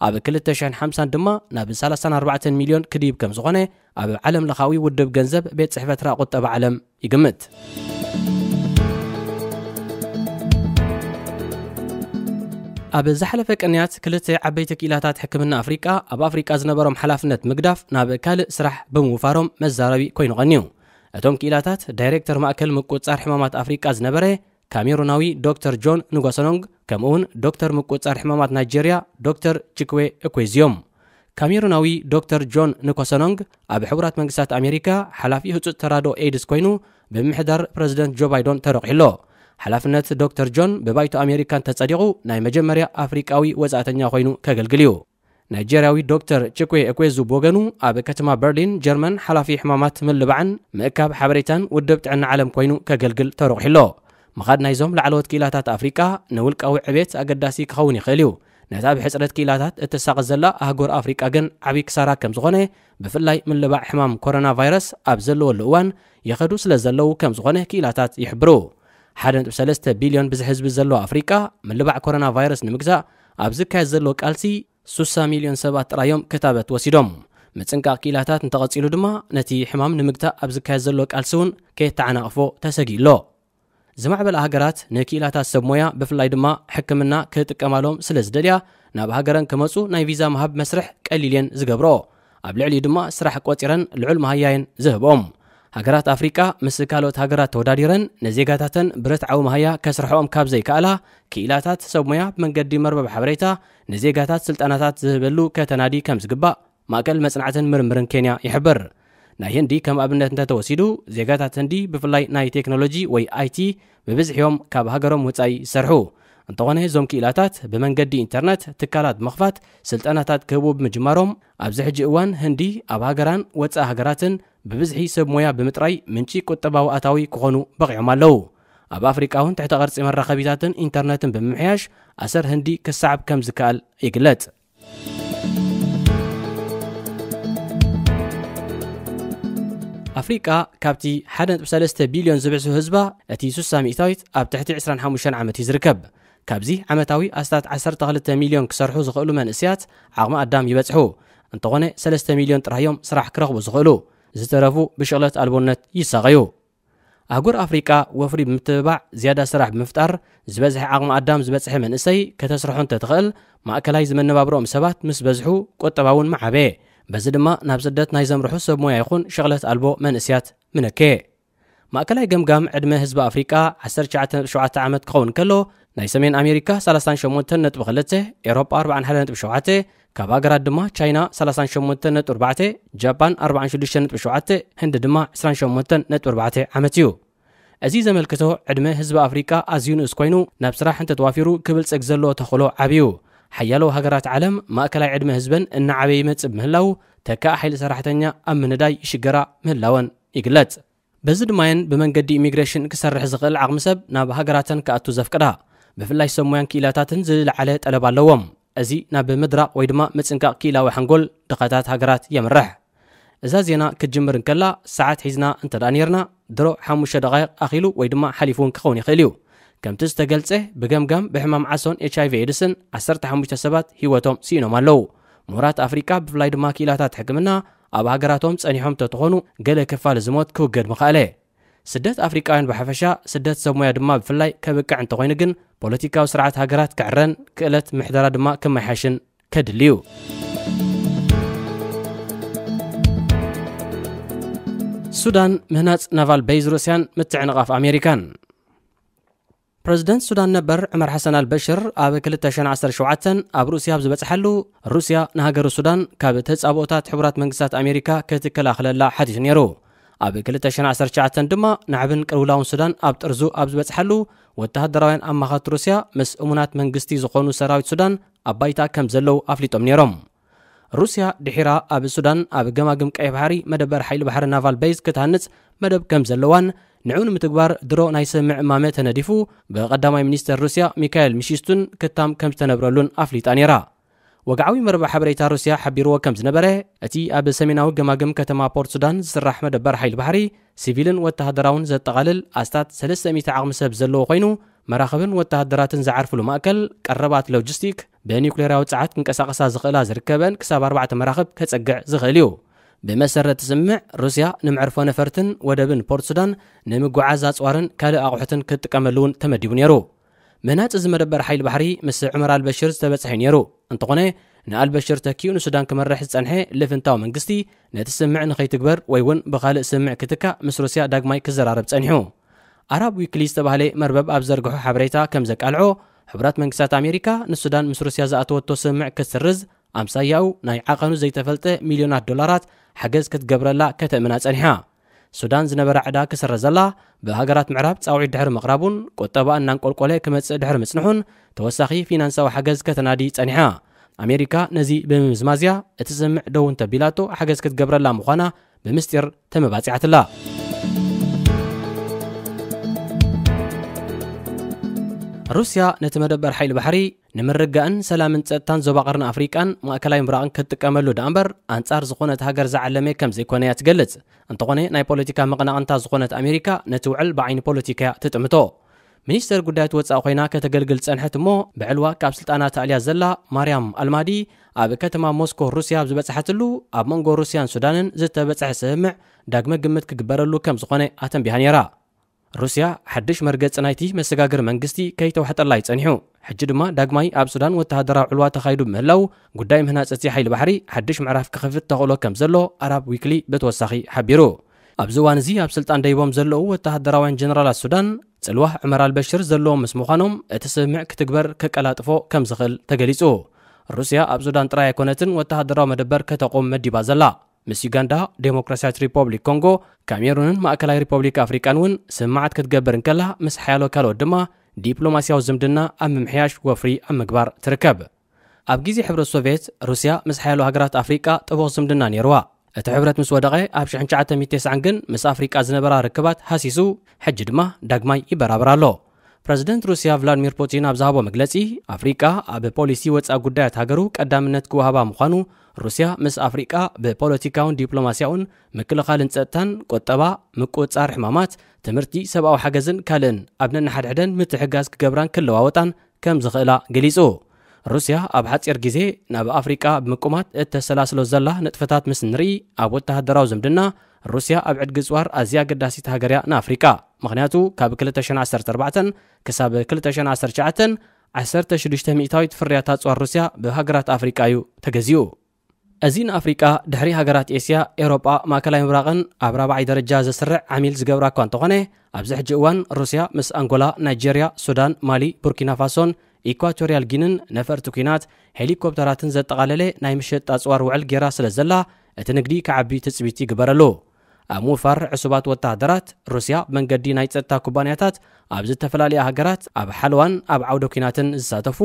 ኣብ ክልተ ሽሕን ሓምሳን ድማ ናብ ሰላሳን ኣርባዕተን ሚልዮን ክድይብ ከም ዝኾነ ኣብ ዓለም ለኻዊ ውድብ ገንዘብ ቤት ጽሕፈት ራ ቁጠባ ዓለም ይግምት። ኣብ ዝሓለፈ ቅንያት ክልተ ዓበይቲ ክኢላታት ሕክምና ኣፍሪቃ ኣብ ኣፍሪቃ ዝነበሮም ሓላፍነት ምግዳፍ ናብ ካልእ ስራሕ ብምውፋሮም መዛረቢ ኮይኑ ቀንዩ። እቶም ክኢላታት ዳይሬክተር ማእከል ምቁጽጻር ሕማማት ኣፍሪቃ ዝነበረ ካሜሩናዊ ዶክተር ጆን ንጎሰኖንግ፣ ከምኡውን ዶክተር ምቁጽጻር ሕማማት ናይጄርያ ዶክተር ቺክዌ እኩዌዚ እዮም። ካሜሩናዊ ዶክተር ጆን ንኮሰኖንግ ኣብ ሕቡራት መንግስታት ኣሜሪካ ሓላፊ ህጹጽ ተራድኦ ኤድስ ኮይኑ ብምምሕዳር ፕረዚደንት ጆ ባይደን ተረቂሑ ኣሎ። ሓላፍነት ዶክተር ጆን ብባይቶ ኣሜሪካ እንተጸዲቑ ናይ መጀመርያ ኣፍሪቃዊ ወጻእተኛ ኮይኑ ከገልግል እዩ። ናይጄርያዊ ዶክተር ቺክዌ እኩዌዙ ብወገኑ ኣብ ከተማ በርሊን ጀርመን ሓላፊ ሕማማት ምልባዕን ምእካብ ሓበሬታን ውድብ ጥዕና ዓለም ኮይኑ ከገልግል ተረቂሑ ኣሎ። ምኻድ ናይዞም ላዕለዎት ክኢላታት ኣፍሪቃ ንውልቃዊ ዕቤት ኣገዳሲ ክኸውን ይኽእል እዩ። ነታ ብሕጽረት ክኢላታት እትሳቐ ዘላ ኣህጉር ኣፍሪቃ ግን ዓብዪ ክሳራ ከም ዝኾነ፣ ብፍላይ ምልባዕ ሕማም ኮሮና ቫይረስ ኣብ ዘለወሉ እዋን ይኸዱ ስለ ዘለዉ ከም ዝኾነ ክኢላታት ይሕብሩ። ሓደ ነጥቢ ሰለስተ ቢልዮን ብዝሒ ህዝቢ ዘለዋ ኣፍሪቃ ምልባዕ ኮሮና ቫይረስ ንምግዛእ ኣብ ዝካየድ ዘሎ ቃልሲ ሱሳ ሚልዮን ሰባት ጥራዮም ክታበት ወሲዶም። ምጽንቃቕ ክኢላታት እንተቐጺሉ ድማ ነቲ ሕማም ንምግታእ ኣብ ዝካየድ ዘሎ ቃልሲ እውን ከየተዓናቕፎ ተሰጊኡ ኣሎ። ዝማዕበላ ሃገራት ንክኢላታት ሰብ ሞያ ብፍላይ ድማ ሕክምና ክጥቀማሎም ስለ ዝደልያ ናብ ሃገረን ክመጹ ናይ ቪዛ ምሃብ መስርሕ ቀሊል እየን ዝገብርኦ። ኣብ ልዕሊኡ ድማ ስራሕ ቆጺረን ልዑል መሃያየን ዝህብኦም። ሃገራት ኣፍሪቃ ምስ ካልኦት ሃገራት ተወዳዲረን ንዜጋታተን ብርትዓዊ መሃያ ከስርሕኦም ካብ ዘይከኣላ፣ ክኢላታት ሰብ ሞያ ብመንገዲ መርበብ ሓበሬታ ንዜጋታት ስልጠናታት ዝህበሉ ከተናዲ ከም ዝግባእ ማእከል መጽናዕትን ምርምርን ኬንያ ይሕብር። ናይ ህንዲ ከም ኣብነት እንተተወሲዱ፣ ዜጋታት ህንዲ ብፍላይ ናይ ቴክኖሎጂ ወይ ኣይ ቲ ብብዝሒ እዮም ካብ ሃገሮም ወጻኢ ዝሰርሑ። እንተኾነ እዞም ክኢላታት ብመንገዲ ኢንተርነት ትካላት ምኽፋት ስልጠናታት ክህቡ ብምጅማሮም፣ ኣብዚ ሕጂ እዋን ህንዲ ኣብ ሃገራን ወጻኢ ሃገራትን ብብዝሒ ሰብ ሞያ ብምጥራይ ምንጪ ቁጠባዊ ኣታዊ ክኾኑ በቒዖም ኣለዉ። ኣብ ኣፍሪቃ እውን ትሕተ ቅርጺ መራኸቢታትን ኢንተርነትን ብምምሕያሽ ኣሰር ህንዲ ክሰዓብ ከም ዝከኣል ይግለጽ። ኣፍሪቃ ካብቲ ሓደ ነጥቢ ሰለስተ ቢልዮን ዝብዕሱ ህዝባ እቲ ስሳ ሚእታዊት ኣብ ትሕቲ ዕስራን ሓሙሽተን ዓመት እዩ ዝርከብ። ካብዚ ዓመታዊ ኣስታት ዓሰርተ ክልተ ሚልዮን ክሰርሑ ዝኽእሉ መንእሰያት ዓቕሚ ኣዳም ይበጽሑ። እንተኾነ ሰለስተ ሚልዮን ጥራይ እዮም ስራሕ ክረኽቡ ዝኽእሉ። ዝተረፉ ብሽቕለት ኣልቦነት ይሳቐዩ። ኣህጉር ኣፍሪቃ ወፍሪ ብምትብባዕ ዝያዳ ስራሕ ብምፍጣር ዝበዝሐ ዓቕሚ ኣዳም ዝበጽሐ መንእሰይ ከተስርሖ እንተትኽእል፣ ማእከላይ ዝመነባብሮኦም ሰባት ምስ በዝሑ ቁጠባ እውን ምዓበየ። በዚ ድማ ናብ ስደት ናይ ዘምርሑ ሰብ ሞያ ይኹን ሽቕለት ኣልቦ መንእስያት ምነከየ። ማእከላይ ገምጋም ዕድመ ህዝቢ ኣፍሪቃ ዓሰርተ ትሽዓተ ነጥቢ ሸውዓተ ዓመት ክኸውን ከሎ፣ ናይ ሰሜን ኣሜሪካ ሰላሳን ሸሞንተን ነጥቢ ክልተ፣ ኤሮጳ ኣርባዓን ሓደን ነጥቢ ሸውዓተ፣ ካብ ሃገራት ድማ ቻይና ሰላሳን ሸሞንተን ነጥቢ ኣርባዕተ፣ ጃፓን ኣርባዓን ሽዱሽተን ነጥቢ ሸውዓተ፣ ህንዲ ድማ ዕስራን ሸሞንተን ነጥቢ ኣርባዕተ ዓመት እዩ። እዚ ዘመልክቶ ዕድመ ህዝቢ ኣፍሪቃ ኣዝዩ ንኡስ ኮይኑ ናብ ስራሕ እንተተዋፊሩ ክብልጽግ ዘለዎ ተኽእሎ ዓብዩ። ሓያሎ ሃገራት ዓለም ማእከላይ ዕድመ ህዝበን እናዓበየ ይመጽእ ብምህላው ተካእ ሓይሊ ሰራሕተኛ ኣብ ምንዳይ ይሽገራ ምህላወን ይግለጽ። በዚ ድማየን ብመንገዲ ኢሚግሬሽን ክሰርሕ ዝኽእል ዓቕሚ ሰብ ናብ ሃገራተን ክኣቱ ዘፍቅዳ። ብፍላይ ሰብ ሞያን ክኢላታትን ዝለዓለ ጠለብ ኣለዎም። እዚ ናብ ምድራቕ ወይ ድማ ምጽንቃቕ ክኢላዊ ሓንጎል ድኻታት ሃገራት የምርሕ። እዛ ዜና ክትጅምር እንከላ ሰዓት ሒዝና እንተ ደኣ ነይርና፣ ድሮ ሓሙሽተ ደቓይቕ ኣኺሉ ወይ ድማ ሓሊፉ እውን ክኸውን ይኽእል እዩ። ከምቲ ዝተገልጸ፣ ብገምጋም ብሕማም ዓሶን ኤች ኣይ ቪ ኤድስን ዓሰርተ ሓሙሽተ ሰባት ህይወቶም ስኢኖም ኣለዉ። ምሁራት ኣፍሪቃ ብፍላይ ድማ ክኢላታት ሕክምና ኣብ ሃገራቶም ጸኒሖም ተትኾኑ፣ ገለ ክፋል እዚ ሞት ክውገድ ምኽኣለ። ስደት ኣፍሪቃውያን ብሓፈሻ፣ ስደት ሰብ ሞያ ድማ ብፍላይ ከብቅዕ እንተኾይኑ ግን፣ ፖለቲካዊ ስርዓት ሃገራት ክዕረን ክእለት ምሕደራ ድማ ክመሓሽን ከድሊ እዩ። ሱዳን፣ ምህናጽ ናቫል ቤዝ ሩስያን ምትዕንቓፍ ኣሜሪካን። ፕረዚደንት ሱዳን ነበር ዑመር ሓሰን ኣልበሽር ኣብ ክልተ ሽሕን ዓሰርተ ሸውዓተን ኣብ ሩስያ ኣብ ዝበጽሓሉ፣ ሩስያ ንሃገሩ ሱዳን ካብ ተጻብኦታት ሕቡራት መንግስታት ኣሜሪካ ክትከላኸለላ ሓቲቱ ነይሩ። ኣብ ክልተ ሽሕን ዓሰርተ ትሽዓተን ድማ ናዕብን ቅልውላውን ሱዳን ኣብ ጥርዙ ኣብ ዝበጽሓሉ፣ ወተሃደራውያን ኣማኸርቲ ሩስያ ምስ እሙናት መንግስቲ ዝኾኑ ሰራዊት ሱዳን ኣብ ባይታ ከም ዘለዉ ኣፍሊጦም ነይሮም። ሩስያ ድሒራ ኣብ ሱዳን ኣብ ገማግም ቀይሕ ባሕሪ መደበር ሓይሊ ባሕሪ ናቫል ቤዝ ክትሃንጽ መደብ ከም ዘለዋን ንዕኡ ንምትግባር ድሮ ናይ ስምምዕ እማመ ተነዲፉ ብቀዳማይ ሚኒስተር ሩስያ ሚካኤል ሚሺስቱን ክታም ከም ዝተነብረሉን ኣፍሊጣ ነይራ። ወግዓዊ መርበብ ሓበሬታ ሩስያ ሓቢርዎ ከም ዝነበረ፣ እቲ ኣብ ሰሜናዊ ገማግም ከተማ ፖርት ሱዳን ዝስራሕ መደበር ሓይሊ ባሕሪ፣ ሲቪልን ወተሃደራውን ዘጠቓልል ኣስታት ሰለስተ ሚእቲ ዓቕሚ ሰብ ዘለዎ ኮይኑ፣ መራኽብን ወተሃደራትን ዝዓርፍሉ ማእከል፣ ቀረባት ሎጂስቲክ፣ ብኒውክሌራዊ ጸዓት ክንቀሳቐሳ ዝኽእላ ዝርከበን ክሳብ ኣርባዕተ መራኽብ ከጸግዕ ዝኽእል እዩ። ብመሰረት ስምምዕ፣ ሩስያ ንመዕርፎ ነፈርትን ወደብን ፖርት ሱዳን ንምጉዓዝ ኣጽዋርን ካልእ ኣቑሑትን ክትጥቀመሉ እውን ተመዲቡ ነይሩ። ምህናጽ እዚ መደበር ሓይሊ ባሕሪ ምስ ዑመር ኣልበሽር ዝተበጽሐ ነይሩ። እንተኾነ፣ ንኣልበሽር ተኪኡ ንሱዳን ክመርሕ ዝጸንሐ ልፍንታዊ መንግስቲ፣ ነቲ ስምምዕ ንኸይትግበር ወይ እውን ብኻልእ ስምምዕ ክትካእ ምስ ሩስያ ዳግማይ ክዘራረብ ጸኒሑ። ኣራብ ዊክሊ ዝተባህለ መርበብ ኣብ ዘርግሖ ሓበሬታ ከም ዘቃልዖ፣ ሕቡራት መንግስታት ኣሜሪካ ንሱዳን ምስ ሩስያ ዝኣተወቶ ስምምዕ ክትስርዝ፣ ኣምሳያኡ ናይ ዓቐኑ ዘይተፈልጠ ሚልዮናት ዶላራት ሓገዝ ክትገብረላ ከተእምና ጸኒሓ። ሱዳን ዝነበራ ዕዳ ክስረዘላ፣ ብሃገራት ምዕራብ ጻውዒት ድሕሪ ምቕራቡን ቁጠባ እናንቆልቆለ ክመጽእ ድሕሪ ምጽንሑን፣ ተወሳኺ ፊናንሳዊ ሓገዝ ከተናዲ ጸኒሓ። ኣሜሪካ ነዚ ብምምዝማዝያ፣ እቲ ስምምዕ ደው እንተቢላቶ ሓገዝ ክትገብረላ ምዃና ብምስጢር ተመባጺዓትላ። ሩስያ ነቲ መደበር ሓይሊ ባሕሪ ንምርግጋእን ሰላምን ጸጥታን ዞባ ቀርኒ ኣፍሪቃን ማእከላይ ምብራቕን ክትጥቀመሉ ደኣ እምበር፣ ኣንጻር ዝኾነት ሃገር ዝዓለመ ከም ዘይኮነ እያ ትገልጽ። እንተኾነ፣ ናይ ፖለቲካ መቐናቕንታ ዝኾነት ኣሜሪካ ነቲ ውዕል ብዓይኒ ፖለቲካ እያ ትጥምቶ። ሚኒስተር ጉዳያት ወጻኢ ኮይና ከተገልግል ጸንሐት እሞ፣ ብዕልዋ ካብ ስልጣና ተኣልያ ዘላ ማርያም ኣልማዲ፣ ኣብ ከተማ ሞስኮ ሩስያ ኣብ ዝበጽሓትሉ፣ ኣብ መንጎ ሩስያን ሱዳንን ዝተበጽሐ ስምምዕ ዳግመ ግምት ክግበረሉ ከም ዝኾነ ኣተንቢሃ ነይራ። ሩስያ ሓድሽ መርገጺ ናይቲ መሰጋገሪ መንግስቲ ከይተዋሕጠላ እዩ ጸኒሑ። ሕጂ ድማ ዳግማይ ኣብ ሱዳን ወተሃደራዊ ዕልዋ ተኻይዱ ብምህላው፣ ጉዳይ ምህናጽ እቲ ሓይሊ ባሕሪ ሓድሽ ምዕራፍ ክኸፍት ተኽእሎ ከም ዘሎ ኣራብ ዊክሊ ብተወሳኺ ሓቢሩ። ኣብዚ እዋን እዚ ኣብ ስልጣን ደይቦም ዘለዉ ወተሃደራውያን ጀነራላት ሱዳን፣ ጽልዋ ዑመር ኣልበሽር ዘለዎም ምስ ምዃኖም፣ እቲ ስምምዕ ክትግበር ከቀላጥፎ ከም ዝኽእል ተገሊጹ። ሩስያ ኣብ ሱዳን ጥራይ ኣይኮነትን ወተሃደራዊ መደበር ከተቑም መዲባ ዘላ። ምስ ዩጋንዳ፣ ዴሞክራሲያዊት ሪፖብሊክ ኮንጎ፣ ካሜሩንን ማእከላይ ሪፖብሊክ ኣፍሪቃን እውን ስምምዓት ክትገብር እንከላ፣ ምስ ሓያሎ ካልኦት ድማ ዲፕሎማስያዊ ዝምድና ኣብ ምምሕያሽ ወፍሪ ኣብ ምግባር ትርከብ። ኣብ ግዜ ሕብረት ሶቭየት፣ ሩስያ ምስ ሓያሎ ሃገራት ኣፍሪቃ ጥቡቕ ዝምድና ነይርዋ። እቲ ሕብረት ምስ ወደቐ፣ ኣብ ሽሕን ትሽዓተ ሚእትን ተስዓን ግን ምስ ኣፍሪቃ ዝነበራ ርክባት ሃሲሱ፣ ሕጂ ድማ ዳግማይ ይበራበር ኣሎ። ፕረዚደንት ሩስያ ቭላድሚር ፑቲን ኣብ ዝሃቦ መግለጺ፣ ኣፍሪቃ ኣብ ፖሊሲ ወጻኢ ጉዳያት ሃገሩ ቀዳምነት ክወሃባ ምዃኑ፣ ሩስያ ምስ ኣፍሪቃ ብፖለቲካውን ዲፕሎማስያውን፣ ምክልኻልን ጸጥታን፣ ቁጠባ፣ ምቁጽጻር ሕማማት፣ ትምህርቲ፣ ሰብኣዊ ሓገዝን ካልእን ኣብ ነንሓድሕደን ምትሕግጋዝ ክገብራን ክለዋወጣን ከም ዝኽእላ ገሊጹ። ሩስያ ኣብ ሓጺር ግዜ ናብ ኣፍሪቃ ብምቁማት እተሰላስሎ ዘላ ንጥፈታት ምስ ንርኢ፣ ኣብ ወተሃደራዊ ዝምድና፣ ሩስያ ኣብ ዕድጊ ጽዋር ኣዝያ ኣገዳሲት ሃገር እያ ንኣፍሪቃ። ምኽንያቱ፣ ካብ ክልተ ሽሕን ዓሰርተ ኣርባዕተን ክሳብ ክልተ ሽሕን ዓሰርተ ትሽዓተን፣ ዓሰርተ ሽዱሽተ ሚእታዊት ፍርያት ኣጽዋር ሩስያ ብሃገራት ኣፍሪቃ እዩ ተገዚኡ። እዚ ንኣፍሪቃ፣ ድሕሪ ሃገራት ኤስያ፣ ኤውሮጳ፣ ማእከላይ ምብራቕን ኣብ ራብዓይ ደረጃ ዘስርዕ ዓሚል ዝገብራ እኳ እንተኾነ፣ ኣብዚ ሕጂ እዋን ሩስያ ምስ ኣንጎላ፣ ናይጄርያ፣ ሱዳን፣ ማሊ፣ ቡርኪና ፋሶን ኢኳቶርያል ጊንን ነፈርቲ ኲናት፣ ሄሊኮፕተራትን ዘጠቓለለ ናይ ምሸጥ ኣጽዋር ውዕል ጌራ ስለ ዘላ፣ እቲ ንግዲ ክዓቢ ትጽቢት ይግበረሉ። ኣብ ምውፋር ዕሱባት ወተሃደራት፣ ሩስያ ብመንገዲ ናይ ጸጥታ ኩባንያታት ኣብ ዝተፈላለያ ሃገራት ኣብ ሓለዋን ኣብ ዓውደ ኲናትን ዝሳተፉ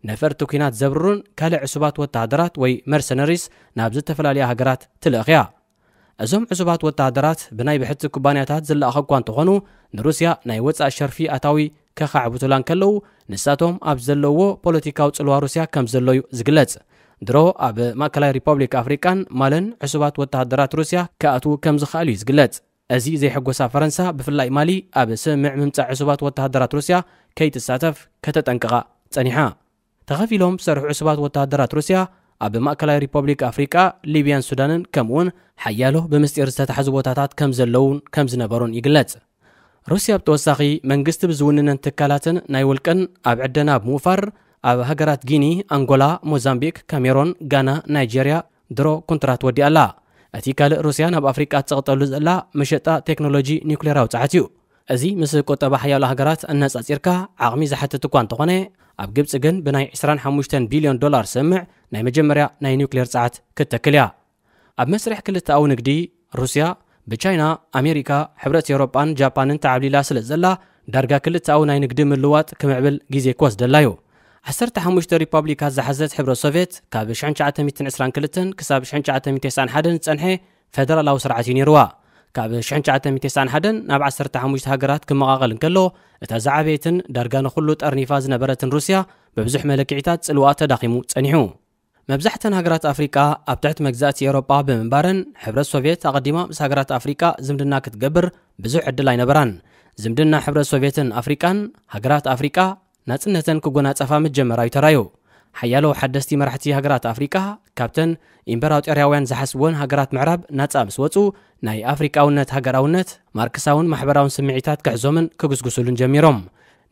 ነፈርቲ ኲናት ዘብርሩን ካልእ ዕሱባት ወተሃደራት ወይ መርሰነሪስ ናብ ዝተፈላለያ ሃገራት ትልእኽ እያ። እዞም ዕሱባት ወተሃደራት ብናይ ብሕቲ ኩባንያታት ዝለኣኹ እኳ እንተኾኑ፣ ንሩስያ ናይ ወጻኢ ሸርፊ ኣታዊ ከኻዕብቱላ እንከለዉ፣ ንሳቶም ኣብ ዘለውዎ ፖለቲካዊ ጽልዋ ሩስያ ከም ዘሎ እዩ ዝግለጽ። ድሮ ኣብ ማእከላይ ሪፐብሊክ ኣፍሪቃን ማልን ዕሱባት ወተሃደራት ሩስያ ክኣትዉ ከም ዝኸኣሉ እዩ ዝግለጽ። እዚ ዘየሐጎሳ ፈረንሳ፣ ብፍላይ ማሊ፣ ኣብ ስምምዕ ምምጻእ ዕሱባት ወተሃደራት ሩስያ ከይትሳተፍ ከተጠንቅቓ ጸኒሓ። ተኸፊሎም ዝሰርሑ ዕሱባት ወተሃደራት ሩስያ ኣብ ማእከላይ ሪፐብሊክ ኣፍሪቃ፣ ሊብያን ሱዳንን ከምኡውን ሓያሎ ብምስጢር ዝተታሕዙ ቦታታት ከም ዘለውን ከም ዝነበሩን ይግለጽ። ሩስያ ብተወሳኺ መንግስቲ ብዝውንነን ትካላትን ናይ ውልቅን ኣብ ዕደና ብምውፋር ኣብ ሃገራት ጊኒ፣ ኣንጎላ፣ ሞዛምቢክ፣ ካሜሮን፣ ጋና፣ ናይጄርያ ድሮ ኮንትራት ወዲኣ ኣላ። እቲ ካልእ ሩስያ ናብ ኣፍሪቃ ትቕጠሉ ዘላ መሸጣ ቴክኖሎጂ ኒውክሌር ኣውጻዓት እዩ። እዚ ምስ ቁጠባ ሓያሎ ሃገራት ኣነጻጺርካ ዓቕሚ ዝሓትት እኳ እንተኾነ፣ ኣብ ግብጺ ግን ብናይ ዕስራን ሓሙሽተን ቢልዮን ዶላር ዝስምዕ ናይ መጀመርያ ናይ ኒውክሌር ጸዓት ክትተክል እያ። ኣብ መስርሕ ክልተኣዊ ንግዲ፣ ሩስያ ብቻይና፣ ኣሜሪካ፣ ሕብረት ኤውሮጳን ጃፓንን ተዓብሊላ ስለ ዘላ፣ ዳርጋ ክልተኣዊ ናይ ንግዲ ምልዋጥ ክምዕብል ግዜ ክወስደላ እዩ። ዓሰርተ ሓሙሽተ ሪፓብሊካት ዝሓዘት ሕብረት ሶቭየት ካብ ሽሕን ትሽዓተ ሚእትን ዕስራን ክልተን ክሳብ ሽሕን ትሽዓተ ሚእትን ተስዓን ሓደን ዝጸንሐ ፈደራላዊ ስርዓት እዩ ነይርዋ። ካብ ሽሕን ትሽዓተ ሚእትን ተስዓን ሓደን ናብ ዓሰርተ ሓሙሽተ ሃገራት ክመቓቐል እንከሎ፣ እታ ዝዓበየትን ዳርጋ ንኹሉ ጠርኒፋ ዝነበረትን ሩስያ ብብዙሕ መለክዒታት ጽልዋ ተዳኺሙ ጸኒሑ። መብዛሕተን ሃገራት ኣፍሪቃ ኣብ ትሕቲ መግዛእቲ ኤውሮጳ ብምንባረን፣ ሕብረት ሶቭየት ኣቐዲማ ምስ ሃገራት ኣፍሪቃ ዝምድና ክትገብር ብዙሕ ዕድል ኣይነበራን። ዝምድና ሕብረት ሶቭየትን ኣፍሪቃን ሃገራት ኣፍሪቃ ናጽነተን ክጎናጸፋ ምጀመራ እዩ ተራዩ። ሓያሎ ሓደስቲ መራሕቲ ሃገራት ኣፍሪቃ ካብተን ኢምፐራጦርያውያን ዝሓስብወን ሃገራት ምዕራብ ናጻ ምስ ወጹ፣ ናይ ኣፍሪቃውነት ሃገራውነት፣ ማርክሳውን ማሕበራውን ስምዒታት ክሕዞምን ክጉስጉሱሉን ጀሚሮም።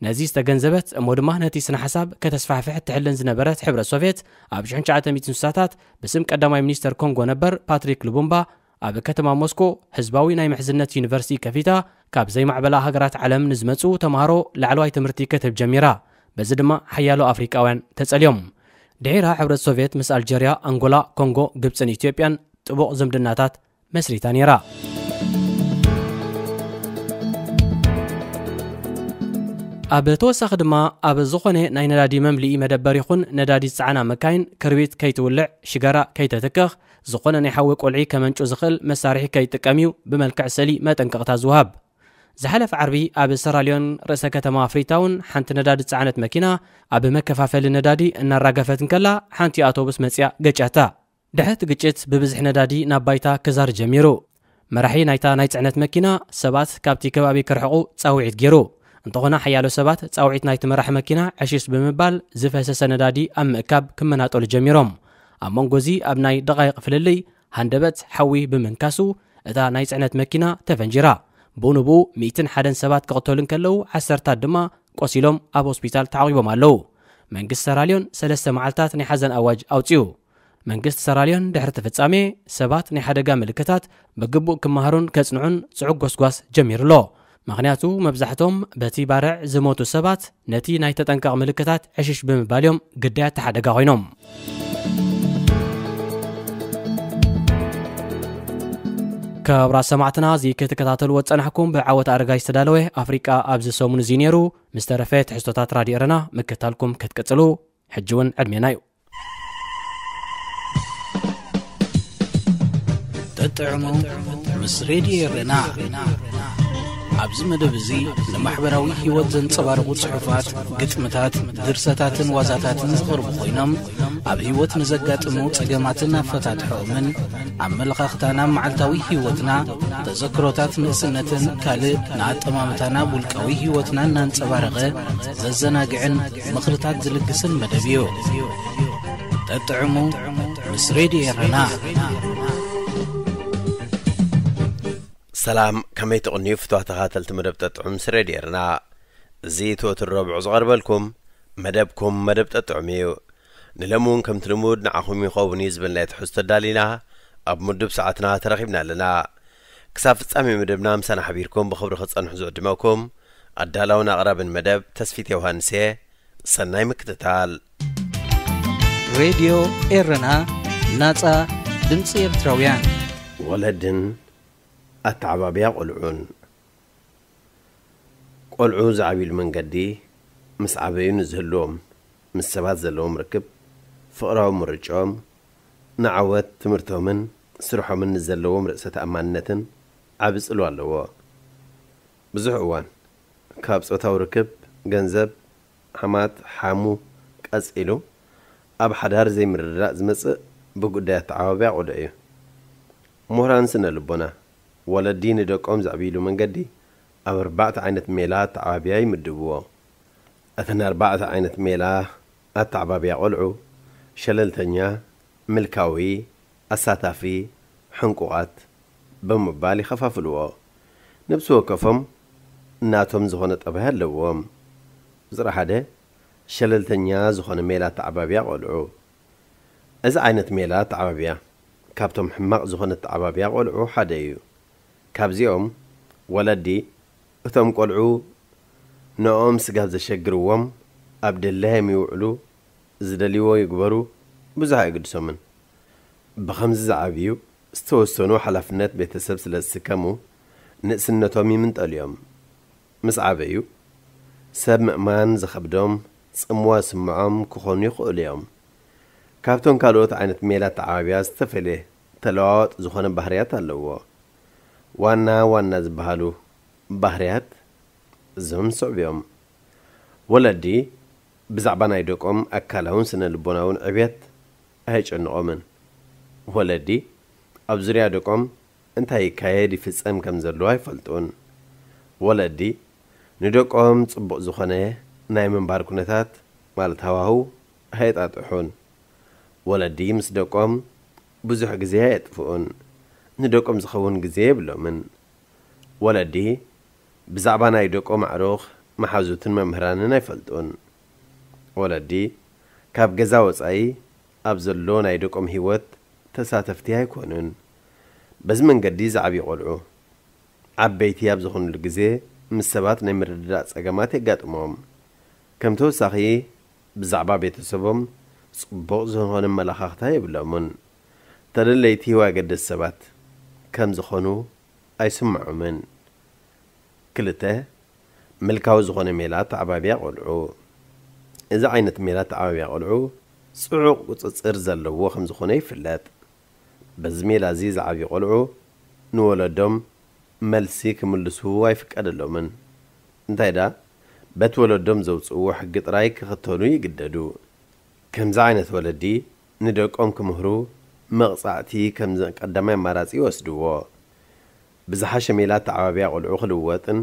ነዚ ዝተገንዘበት እሞ ድማ ነቲ ስነ ሓሳብ ከተስፋሕፍሕ ትሕልን ዝነበረት ሕብረት ሶቭየት፣ ኣብ ሽሕን ትሽዓተ ሚእትን ስሳታት ብስም ቀዳማይ ሚኒስተር ኮንጎ ነበር ፓትሪክ ሉቡምባ ኣብ ከተማ ሞስኮ ህዝባዊ ናይ ምሕዝነት ዩኒቨርሲቲ ከፊታ፣ ካብ ዘይማዕበላ ሃገራት ዓለም ንዝመጹ ተምሃሮ ላዕለዋይ ትምህርቲ ክትህብ ጀሚራ። በዚ ድማ ሓያሎ ኣፍሪቃውያን ተጸልዮም። ድሒራ ሕብረት ሶቭየት ምስ ኣልጀርያ፣ ኣንጎላ፣ ኮንጎ፣ ግብጽን ኢትዮጵያን ጥቡቕ ዝምድናታት መስሪታ ነይራ። ኣብ ተወሳኺ ድማ፣ ኣብ ዝኾነ ናይ ነዳዲ መምልኢ መደበር ይኹን ነዳዲ ዝጸዓና መካይን ክርቢት ከይትውልዕ፣ ሽጋራ ከይተትክኽ፣ ዝኾነ ናይ ሓዊ ቆልዒ ከመንጩ ዝኽእል መሳርሒ ከይጥቀም እዩ ብመልክዕ ስእሊ መጠንቀቕታ ዝወሃብ። ዝሓለፈ ዓርቢ ኣብ ሰራልዮን ርእሰ ከተማ ፍሪታውን ሓንቲ ነዳዲ ዝጸዓነት መኪና ኣብ መከፋፈሊ ነዳዲ እናራገፈት እንከላ ሓንቲ ኣውቶቡስ መጺኣ ገጭያታ። ድሕሪ እቲ ግጭት ብብዝሒ ነዳዲ ናብ ባይታ ክዛር ጀሚሩ። መራሒ ናይታ ናይ ጽዕነት መኪና ሰባት ካብቲ ከባቢ ክርሕቑ ጻውዒት ገይሩ። እንተኾነ ሓያሎ ሰባት ጻውዒት ናይቲ መራሒ መኪና ዕሽሽ ብምባል ዝፈሰሰ ነዳዲ ኣብ ምእካብ ክመናጠሉ ጀሚሮም። ኣብ መንጎ እዚ ኣብ ናይ ደቓይቕ ፍልልይ ሃንደበት ሓዊ ብምንካሱ እታ ናይ ጽዕነት መኪና ተፈንጂራ። ብኡ ንብኡ ሚእትን ሓደን ሰባት ክቕተሉ እንከለዉ ዓሰርታት ድማ ቆሲሎም ኣብ ሆስፒታል ተዓቒቦም ኣለዉ። መንግስቲ ሰራልዮን ሰለስተ መዓልታት ናይ ሓዘን ኣዋጅ ኣውጺኡ። መንግስቲ ሰራልዮን ድሕሪ እቲ ፍጻሜ ሰባት ናይ ሓደጋ ምልክታት ብግቡእ ክመሃሩን ከጽንዑን ጽዑቕ ጎስጓስ ጀሚሩ ኣሎ። ምኽንያቱ መብዛሕቶም በቲ ባርዕ ዝሞቱ ሰባት ነቲ ናይ ተጠንቀቕ ምልክታት ዕሽሽ ብምባል እዮም ግዳያት ሓደጋ ኮይኖም። ክቡራት ሰማዕትና፣ እዚ ክትከታተልዎ ዝጸናሕኩም ብዓወት ኣረጋይ ዝተዳለወ ኣፍሪቃ ኣብዚ ሰሙን እዚ ነይሩ። ምስ ተረፈ ትሕዝቶታት ራድዮ ኤረና ምክታልኩም ክትቅጽሉ ሕጂ እውን ዕድሜና እዩ። ተጥዕሙ ምስ ሬድዮ ኤረና። ኣብዚ መደብ እዚ ንማሕበራዊ ህይወት ዘንጸባርቑ ጽሑፋት፣ ግጥምታት፣ ድርሰታትን ዋዛታትን ዝቐርቡ ኮይኖም፣ ኣብ ህይወት ንዘጋጥሙ ጸገማትን ኣፈታትሖኦምን፣ ኣመለኻኽታና ኣብ መዓልታዊ ህይወትና፣ ተዘክሮታት ንእስነትን ካልእ ንኣጠማምታና ኣብ ውልቃዊ ህይወትና እናንጸባረቐ ዘዘናግዕን ምኽርታት ዝልግስን መደብ እዩ። ጠጥዕሙ ምስ ሬድዮ ኤረና። ሰላም፣ ከመይ ትቕንዩ ፍትዋ ተኻተልቲ መደብ ጠጥዑም ምስ ሬድዮ ኤረና? እዚ ትወትር ረብዑ ዝቐርበልኩም መደብኩም መደብ ጠጥዑም እዩ። ንለሚ እውን ከምቲ ልሙድ ንዓኹም ይኸውን እዩ ዝበልናዮ ትሕዝቶ ኣዳሊና ኣብ ምዱብ ሰዓትና ተረኺብና ኣለና። ክሳብ ፍጻሜ መደብና ምሳና ሓቢርኩም ብኽብሪ ክትጸንሑ ዝዕድመኩም ኣዳላውን ኣቕራብን መደብ ተስፊት ዮሃንስ እየ። ሰናይ ምክትታል። ሬድዮ ኤረና፣ ናጻ ድምጺ ኤርትራውያን። ወለድን ኣተዓባብያ ቆልዑን። ቆልዑ ዝዓብይሉ መንገዲ፣ ምስ ዓበዩ ንዝህልዎም ምስ ሰባት ዘለዎም ርክብ፣ ፍቕራዊ ምርጭኦም፣ ንዓወት ትምህርቶምን ስርሖምን ንዘለዎም ርእሰ ተኣማንነትን ዓቢ ጽልዋ ኣለዎ። ብዙሕ እዋን ካብ ጾታዊ ርክብ፣ ገንዘብ፣ ዓማት፣ ሓሙ ቀጺሉ ኣብ ሓዳር ዘይምርድዳእ ዝመጽእ ብጉዳይ ኣተዓባብያ ቆልዑ እዩ። ምሁራን ስነ ልቦና፣ ወለዲ ንደቆም ዘዕብይሉ መንገዲ ኣብ ኣርባዕተ ዓይነት ሜላ ኣተዓባብያ ይምድብዎ። እተን ኣርባዕተ ዓይነት ሜላ ኣተዓባብያ ቆልዑ፣ ሸለልተኛ፣ ምልካዊ፣ ኣሳታፊ፣ ሕንቁቓት ብምባል ይኸፋፍልዎ። ነብሲ ወከፎም ናቶም ዝኾነ ጠባይ ኣለዎም። ቁጽሪ ሓደ፣ ሸለልተኛ ዝኾነ ሜላ ኣተዓባብያ ቆልዑ። እዚ ዓይነት ሜላ ኣተዓባብያ ካብቶም ሕማቕ ዝኾነ ኣተዓባብያ ቆልዑ ሓደ እዩ። ካብዚኦም ወለዲ እቶም ቆልዑ ንኦም ስጋብ ዘሸግርዎም ኣብ ደላዮም ይውዕሉ፣ ዝደልይዎ ይግበሩ፣ ብዙሕ ኣይግድሶምን። ብኸምዚ ዝዓብዩ ዝተወሰኑ ሓላፍነት ቤተሰብ ስለ ዝስከሙ ንእስነቶም ይምንጠሉ እዮም። ምስ ዓበዩ ሰብ ምእማን ዝኸብዶም፣ ጽምዋ ዝስምዖም ክኾኑ ይኽእሉ እዮም። ካብቶም ካልኦት ዓይነት ሜላ ኣተዓባብያ ዝተፈልየ ተለዋዋጥ ዝኾነ ባህርያት ኣለዎ። ዋና ዋና ዝበሃሉ ባህርያት እዞም ዝስዕቡ እዮም። ወለዲ ብዛዕባ ናይ ደቆም ኣካላውን ስነ ልቦናውን ዕብየት ኣየጨንቖምን። ወለዲ ኣብ ዙርያ ደቆም እንታይ ይካየድ ይፍጸም ከም ዘለዎ ኣይፈልጡን። ወለዲ ንደቆም ጽቡቕ ዝኾነ ናይ ምንባር ኩነታት ማለት ሃዋህው ኣየጣጥሑን። ወለዲ ምስ ደቆም ብዙሕ ግዜ ኣየጥፍኡን። ንደቆም ዝኸውን ግዜ የብሎምን። ወለዲ ብዛዕባ ናይ ደቆም ኣዕሩኽ፣ መሓዙትን መምህራንን ኣይፈልጡን። ወለዲ ካብ ገዛ ወጻኢ ኣብ ዘሎ ናይ ደቆም ህይወት ተሳተፍቲ ኣይኮኑን። በዚ መንገዲ ዝዓብዩ ቆልዑ ዓበይቲ ኣብ ዝኾኑሉ ግዜ ምስ ሰባት ናይ ምርድዳእ ጸገማት የጋጥሞም። ከም ተወሳኺ ብዛዕባ ቤተሰቦም ጽቡቕ ዝኾነ ኣመለኻኽታ የብሎምን። ተደለይቲ ወይ ኣገደስቲ ሰባት ከም ዝኾኑ ኣይስምዖምን። ክልተ፣ ምልካዊ ዝኾነ ሜላ ኣተዓባብያ ቆልዑ። እዚ ዓይነት ሜላ ኣተዓባብያ ቆልዑ ጽዑቕ ቁጽጽር ዘለዎ ከም ዝኾነ ይፍለጥ። በዚ ሜላ እዚ ዝዓብዩ ቆልዑ ንወለዶም መልሲ ክምልሱ ኣይፍቀደሎምን። እንታይ ደኣ በቲ ወለዶም ዘውጽእዎ ሕጊ ጥራይ ክኽተሉ ይግደዱ። ከምዚ ዓይነት ወለዲ ንደቆም ክምህሩ መቕጻዕቲ ከም ቀዳማይ ኣማራጺ ይወስድዎ። ብዝሓሸ ሜላ ኣተዓባብያ ቆልዑ ክልወጥን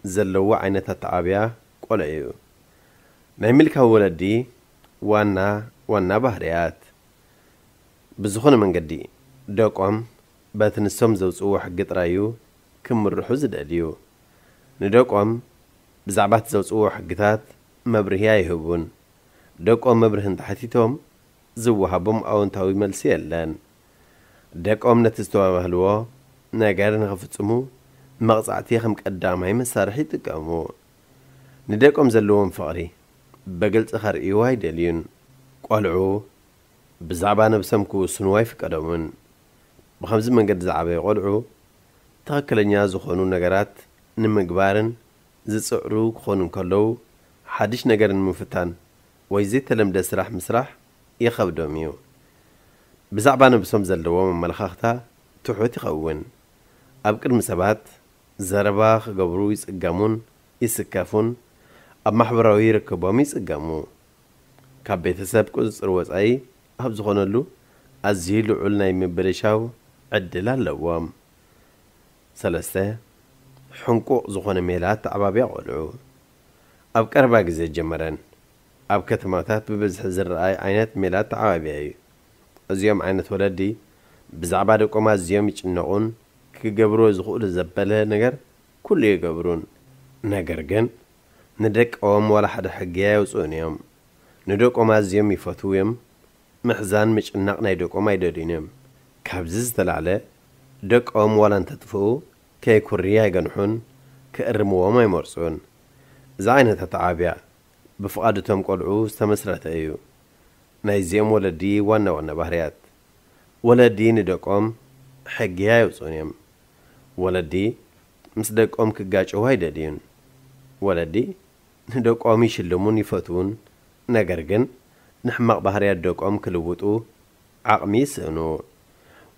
ዘለዎ ዓይነት ኣተዓባብያ ቆልዑ እዩ። ናይ ምልካዊ ወለዲ ዋና ዋና ባህርያት። ብዝኾነ መንገዲ ደቆም በቲ ንሶም ዘውጽእዎ ሕጊ ጥራይ እዩ ክምርሑ ዝደልዩ። ንደቆም ብዛዕባ እቲ ዘውጽእዎ ሕግታት መብርሂ ኣይህቡን። ደቆም መብርሂ እንተሓቲቶም ዝወሃቦም ኣወንታዊ መልሲ የለን። ደቆም ነቲ ዝተባባህልዎ ነገር ንኽፍጽሙ መቕጻዕቲ ከም ቀዳማይ መሳርሒ ይጥቀሙ። ንደቆም ዘለዎም ፍቕሪ ብግልጺ ከርእይዎ ኣይደልዩን። ቆልዑ ብዛዕባ ነብሶም ክውስኑ ኣይፍቀዶምን። ብኸምዚ መንገዲ ዝዓበዩ ቆልዑ ትኽክለኛ ዝኾኑ ነገራት ንምግባርን ዝጽዕሩ ክኾኑ እንከለዉ፣ ሓድሽ ነገር ንምፍታን ወይ ዘይተለምደ ስራሕ ምስራሕ ይኸብዶም እዩ። ብዛዕባ ነብሶም ዘለዎም ኣመለኻኽታ ትሑት ይኸውን። ኣብ ቅድሚ ሰባት ዘረባ ክገብሩ ይጽገሙን ይስከፉን፣ ኣብ ማሕበራዊ ርክቦም ይጽገሙ። ካብ ቤተሰብ ቁጽጽር ወጻኢ ኣብ ዝኾነሉ ኣዝዩ ልዑል ናይ ምብልሻው ዕድል ኣለዎም። ሰለስተ፣ ሕንቁቕ ዝኾነ ሜላ ኣተዓባብያ ቆልዑ። ኣብ ቀረባ ግዜ ጀመረን ኣብ ከተማታት ብብዝሒ ዝረኣይ ዓይነት ሜላ ኣተዓባብያ እዩ። እዚኦም ዓይነት ወለዲ ብዛዕባ ደቆም ኣዝዮም ይጭነቑን ክገብርዎ ዝኽእሉ ዘበለ ነገር ኩሉ ይገብሩን። ነገር ግን ንደቆም ዋላ ሓደ ሕጊ ኣየውጽኡን እዮም። ንደቆም ኣዝዮም ይፈትዉ እዮም። ምሕዛን ምጭናቕ ናይ ደቆም ኣይደልዩን እዮም። ካብዚ ዝተላዕለ ደቆም ዋላ እንተጥፍኡ ከይኩሪ ኣይገንሑን፣ ክእርምዎም ኣይመርጹን። እዚ ዓይነት ኣተዓባብያ ብፍቓድ እቶም ቆልዑ ዝተመስረተ እዩ። ናይዚኦም ወለዲ ዋና ዋና ባህርያት። ወለዲ ንደቆም ሕጊ ኣየውጽኡን እዮም። ወለዲ ምስ ደቆም ክጋጨዉ ኣይደልዩን። ወለዲ ንደቆም ይሽልሙን ይፈትዉን፣ ነገር ግን ንሕማቕ ባህርያት ደቆም ክልውጡ ዓቕሚ ይስእኑ።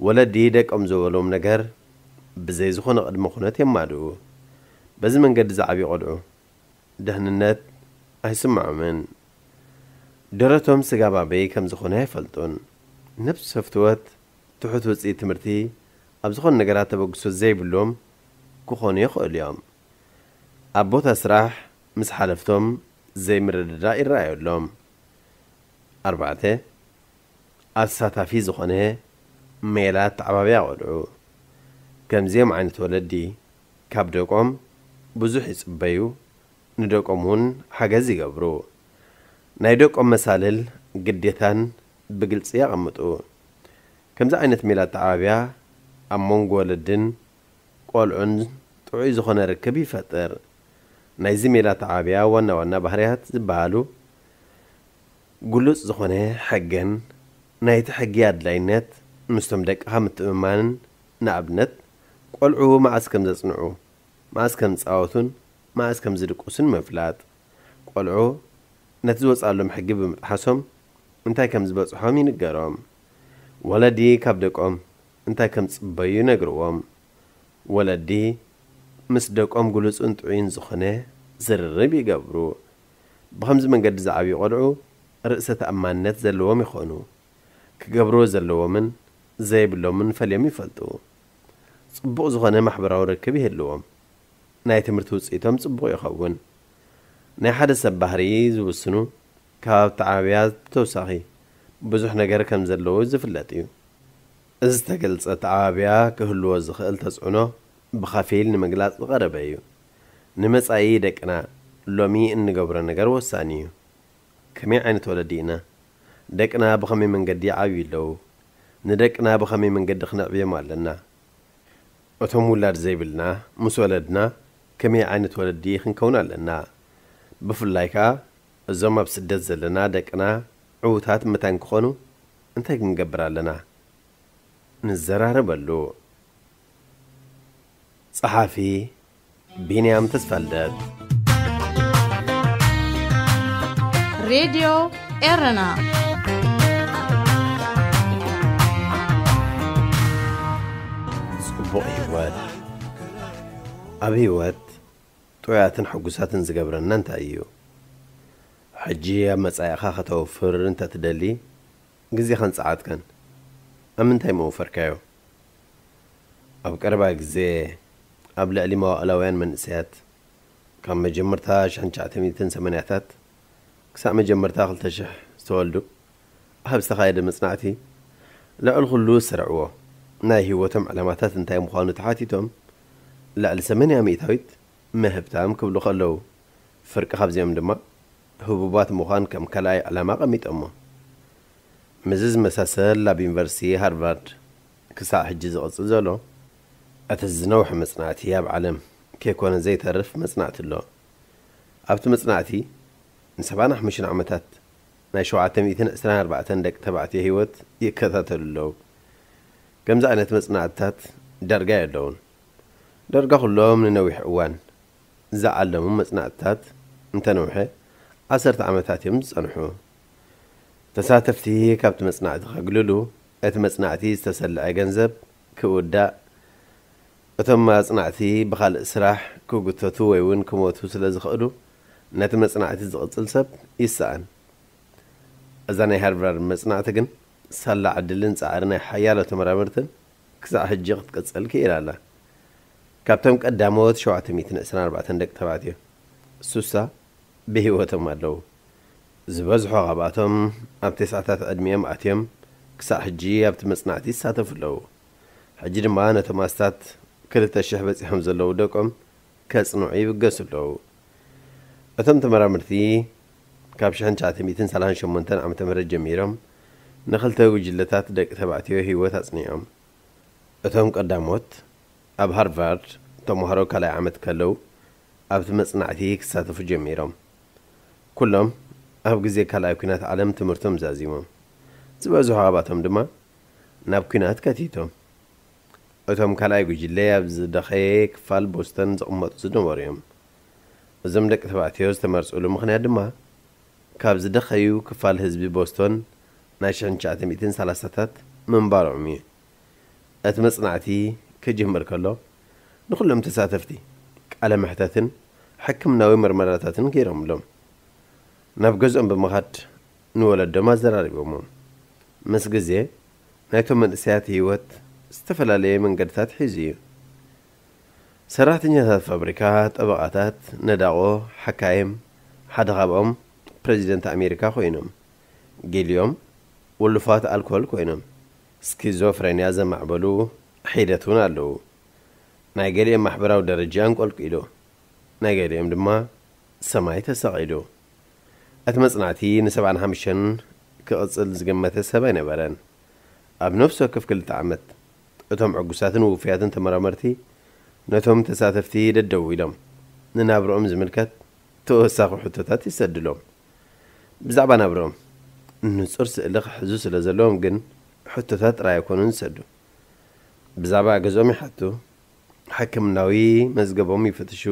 ወለዲ ደቆም ዝበሎም ነገር ብዘይ ዝኾነ ቅድመ ኩነት የማልኡ። በዚ መንገዲ ዝዓብዩ ቆልዑ ደህንነት ኣይስምዖምን። ደረቶም ስጋብ ኣበይ ከም ዝኾነ ኣይፈልጡን። ነብሰ ፍትወት፣ ትሑት ውጽኢት ትምህርቲ፣ ኣብ ዝኾነ ነገራት ተበግሶ ዘይብሎም ክኾኑ ይኽእሉ እዮም። ኣብ ቦታ ስራሕ ምስ ሓለፍቶም ዘይምርድዳእ ይረኣየሎም። ኣርባዕተ፣ ኣሳታፊ ዝኾነ ሜላ ኣተዓባብያ ቆልዑ። ከምዚኦም ዓይነት ወለዲ ካብ ደቆም ብዙሕ ይጽበዩ፣ ንደቆም እውን ሓገዝ ይገብሩ። ናይ ደቆም መሳልል ግዴታን ብግልጺ የቐምጡ። ከምዚ ዓይነት ሜላ ኣተዓባብያ ኣብ መንጎ ወለድን ቆልዑን ጥዑይ ዝኾነ ርክብ ይፈጥር። ናይዚ ሜላ ኣተዓባብያ ዋና ዋና ባህርያት ዝበሃሉ ግሉጽ ዝኾነ ሕግን ናይቲ ሕጊ ኣድላይነት ምስቶም ደቅኻ ምትእምማንን ንኣብነት ቆልዑ መዓስ ከም ዘጽንዑ፣ መዓስ ከም ዝጻወቱን መዓስ ከም ዝድቅሱን ምፍላጥ። ቆልዑ ነቲ ዝወፅኣሎም ሕጊ ብምጥሓሶም እንታይ ከም ዝበፅሖም ይንገሮም። ወለዲ ካብ ደቆም እንታይ ከም ዝፅበዩ ይነግርዎም። ወለዲ ምስ ደቆም ግሉጽን ጥዑይን ዝኾነ ዝርርብ ይገብሩ። ብኸምዚ መንገዲ ዝዓብዩ ቆልዑ ርእሰ ተኣማንነት ዘለዎም ይኾኑ። ክገብርዎ ዘለዎምን ዘይብሎምን ፈልዮም ይፈልጡ። ጽቡቕ ዝኾነ ማሕበራዊ ርክብ ይህልዎም። ናይ ትምህርቲ ውጽኢቶም ጽቡቕ ይኸውን። ናይ ሓደ ሰብ ባህሪ ዝውስኑ ካብ ኣተዓባብያ ብተወሳኺ ብዙሕ ነገር ከም ዘለዉ ዝፍለጥ እዩ። እዚ ዝተገልጸ ኣተዓባብያ ክህልዎ ዝኽእል ተጽዕኖ ብኸፊል ንምግላጽ ዝቐረበ እዩ። ንመጻኢ ደቅና ሎሚ እንገብሮ ነገር ወሳኒ እዩ። ከመይ ዓይነት ወለዲ ኢና? ደቅና ብኸመይ መንገዲ ይዓብዩ ኣለዉ? ንደቅና ብኸመይ መንገዲ ክነዕብዮም ኣለና? እቶም ውላድ ዘይብልና ምስ ወለድና ከመይ ዓይነት ወለዲ ክንከውን ኣለና? ብፍላይ ከኣ እዞም ኣብ ስደት ዘለና ደቅና ዕዉታት መታን ክኾኑ እንታይ ክንገብር ኣለና? ንዘራረበሉ። ጸሓፊ ቢንያም ተስፋልደት። ሬድዮ ኤረና። ጽቡቕ ህይወት። ኣብ ህይወት ጥዑያትን ሕጉሳትን ዝገብረና እንታይ እዩ? ሕጂ ኣብ መጻኢኻ ከተውፍር እንተ ትደሊ፣ ግዜኻን ጸዓትካን ኣብ ምንታይ መውፈርካዮ? ኣብ ቀረባ ግዜ ኣብ ልዕሊ መዋእላውያን መንእሰያት፣ ካብ መጀመርታ ሽሕን ትሽዓተ ሚእትን ሰማንያታት ክሳዕ መጀመርታ ክልተ ሽሕ ዝተወልዱ፣ ኣብ ዝተኻየደ መጽናዕቲ፣ ልዕሊ ኩሉ ዝሰርዕዎ ናይ ህይወቶም ዕላማታት እንታይ ምዃኑ ተሓቲቶም፣ ልዕሊ ሰማንያ ሚእታዊት ምህብታም ክብሉ ከለዉ፣ ፍርቂ ካብዚኦም ድማ ህቡባት ምዃን ከም ካልኣይ ዕላማ ኣቐሚጦሞ። ምስዚ ዝመሳሰል ኣብ ዩኒቨርሲቲ ሃርቫርድ ክሳዕ ሕጂ ዝቕጽል ዘሎ፣ እቲ ዝነውሐ መጽናዕቲ ኣብ ዓለም ከይኮነ ዘይተርፍ መጽናዕቲ ኣሎ። ኣብቲ መጽናዕቲ ንሰብዓን ሓሙሽተን ዓመታት ናይ ሸውዓተ ሚእትን ዕስራን ኣርባዕተን ደቂ ተባዕትዮ ህይወት ይከታተሉ ኣለዉ። ከምዚ ዓይነት መጽናዕትታት ዳርጋ የለዉን። ዳርጋ ኩሎም ንነዊሕ እዋን ዝዓለሙ መጽናዕትታት እንተነውሐ ዓሰርተ ዓመታት እዮም ዝጸንሑ። ተሳተፍቲ ካብቲ መጽናዕቲ ከግልሉ፣ እቲ መጽናዕቲ ዝተሰልዐ ገንዘብ ክውዳእ፣ እቶም ኣጽናዕቲ ብኻልእ ስራሕ ክጉተቱ ወይ እውን ክሞቱ ስለ ዝኽእሉ፣ ነቲ መጽናዕቲ ዝቕጽል ሰብ ይሰኣን። እዛ ናይ ሃርቫርድ መጽናዕቲ ግን ሳላ ዕድልን ጻዕሪ ናይ ሓያሎ ተመራመርትን ክሳዕ ሕጂ ክትቅጽል ክኢላ ኣላ። ካብቶም ቀዳሞት ሸውዓተ ሚእትን ዕስራን ኣርባዕተን ደቂ ተባዕትዮ፣ ሱሳ ብህይወቶም ኣለዉ። ዝበዝሑ ካብኣቶም ኣብ ተስዓታት ዕድሚኦም ኣትዮም ክሳዕ ሕጂ ኣብቲ መጽናዕቲ ይሳተፉ ኣለዉ። ሕጂ ድማ ነቶም ኣስታት ክልተ ሽሕ በጺሖም ዘለዉ ደቆም ከጽንዑ ይብገሱ ኣለዉ። እቶም ተመራመርቲ ካብ ሽሕን ትሽዓተ ሚእትን ሰላሳን ሸሞንተን ዓመተ ምህረት ጀሚሮም ንኽልተ ጉጅለታት ደቂ ተባዕትዮ ህይወት ኣጽኒዖም። እቶም ቀዳሞት ኣብ ሃርቫርድ ተምሃሮ ካልኣይ ዓመት ከለዉ ኣብቲ መጽናዕቲ ክሳተፉ ጀሚሮም። ኩሎም ኣብ ግዜ ካልኣይ ኲናት ዓለም ትምህርቶም ዛዚሞም። ዝበዝሑ ካብኣቶም ድማ ናብ ኲናት ከቲቶም። እቶም ካልኣይ ጉጅለ ኣብ ዝደኸየ ክፋል ቦስተን ዝቕመጡ ዝነበሩ እዮም። እዞም ደቂ ተባዕትዮ ዝተመርጽሉ ምኽንያት ድማ ካብ ዝደኸዩ ክፋል ህዝቢ ቦስቶን ናይ ሽሕን ትሽዓተ ሚእትን ሰላሳታት ምንባሮም እዩ። እቲ መጽናዕቲ ክጅምር ከሎ ንኹሎም ተሳተፍቲ ቃለ መሕተትን ሕክምናዊ መርመራታትን ገይሮምሎም። ናብ ገዝኦም ብምኻድ ንወለዶም ኣዘራሪቦሞም። ምስ ግዜ ናይቶም መንእሰያት ህይወት ዝተፈላለየ መንገድታት ሒዙ እዩ። ሰራሕተኛታት ፋብሪካ፣ ጠበቓታት፣ ነዳቖ፣ ሓካይም፣ ሓደ ካብኦም ፕረዚደንት ኣሜሪካ ኮይኖም። ገሊኦም ውሉፋት ኣልኮል ኮይኖም፣ ስኪዞፍሬንያ ዘማዕበሉ ሒደት እውን ኣለዉ። ናይ ገሊኦም ማሕበራዊ ደረጃ ኣንቆልቂሉ፣ ናይ ገሊኦም ድማ ሰማይ ተሰቒሉ። እቲ መጽናዕቲ ንሰብዓን ሓሙሽተን ክቕጽል ዝገመተ ሰብ ኣይነበረን። ኣብ ነፍሲ ወከፍ ክልተ ዓመት፣ እቶም ዕጉሳትን ውፉያትን ተመራመርቲ ነቶም ተሳተፍቲ ደደው ኢሎም፣ ንናብርኦም ዝምልከት ተወሳኺ ሕቶታት ይሰድሎም። ብዛዕባ ናብርኦም ንጹር ስእሊ ክሕዙ ስለ ዘለዎም ግን፣ ሕቶታት ጥራይ ኣይኮኑን ዝሰዱ። ብዛዕባ ገዝኦም ይሓቱ፣ ሕክምናዊ መዝገቦም ይፍትሹ፣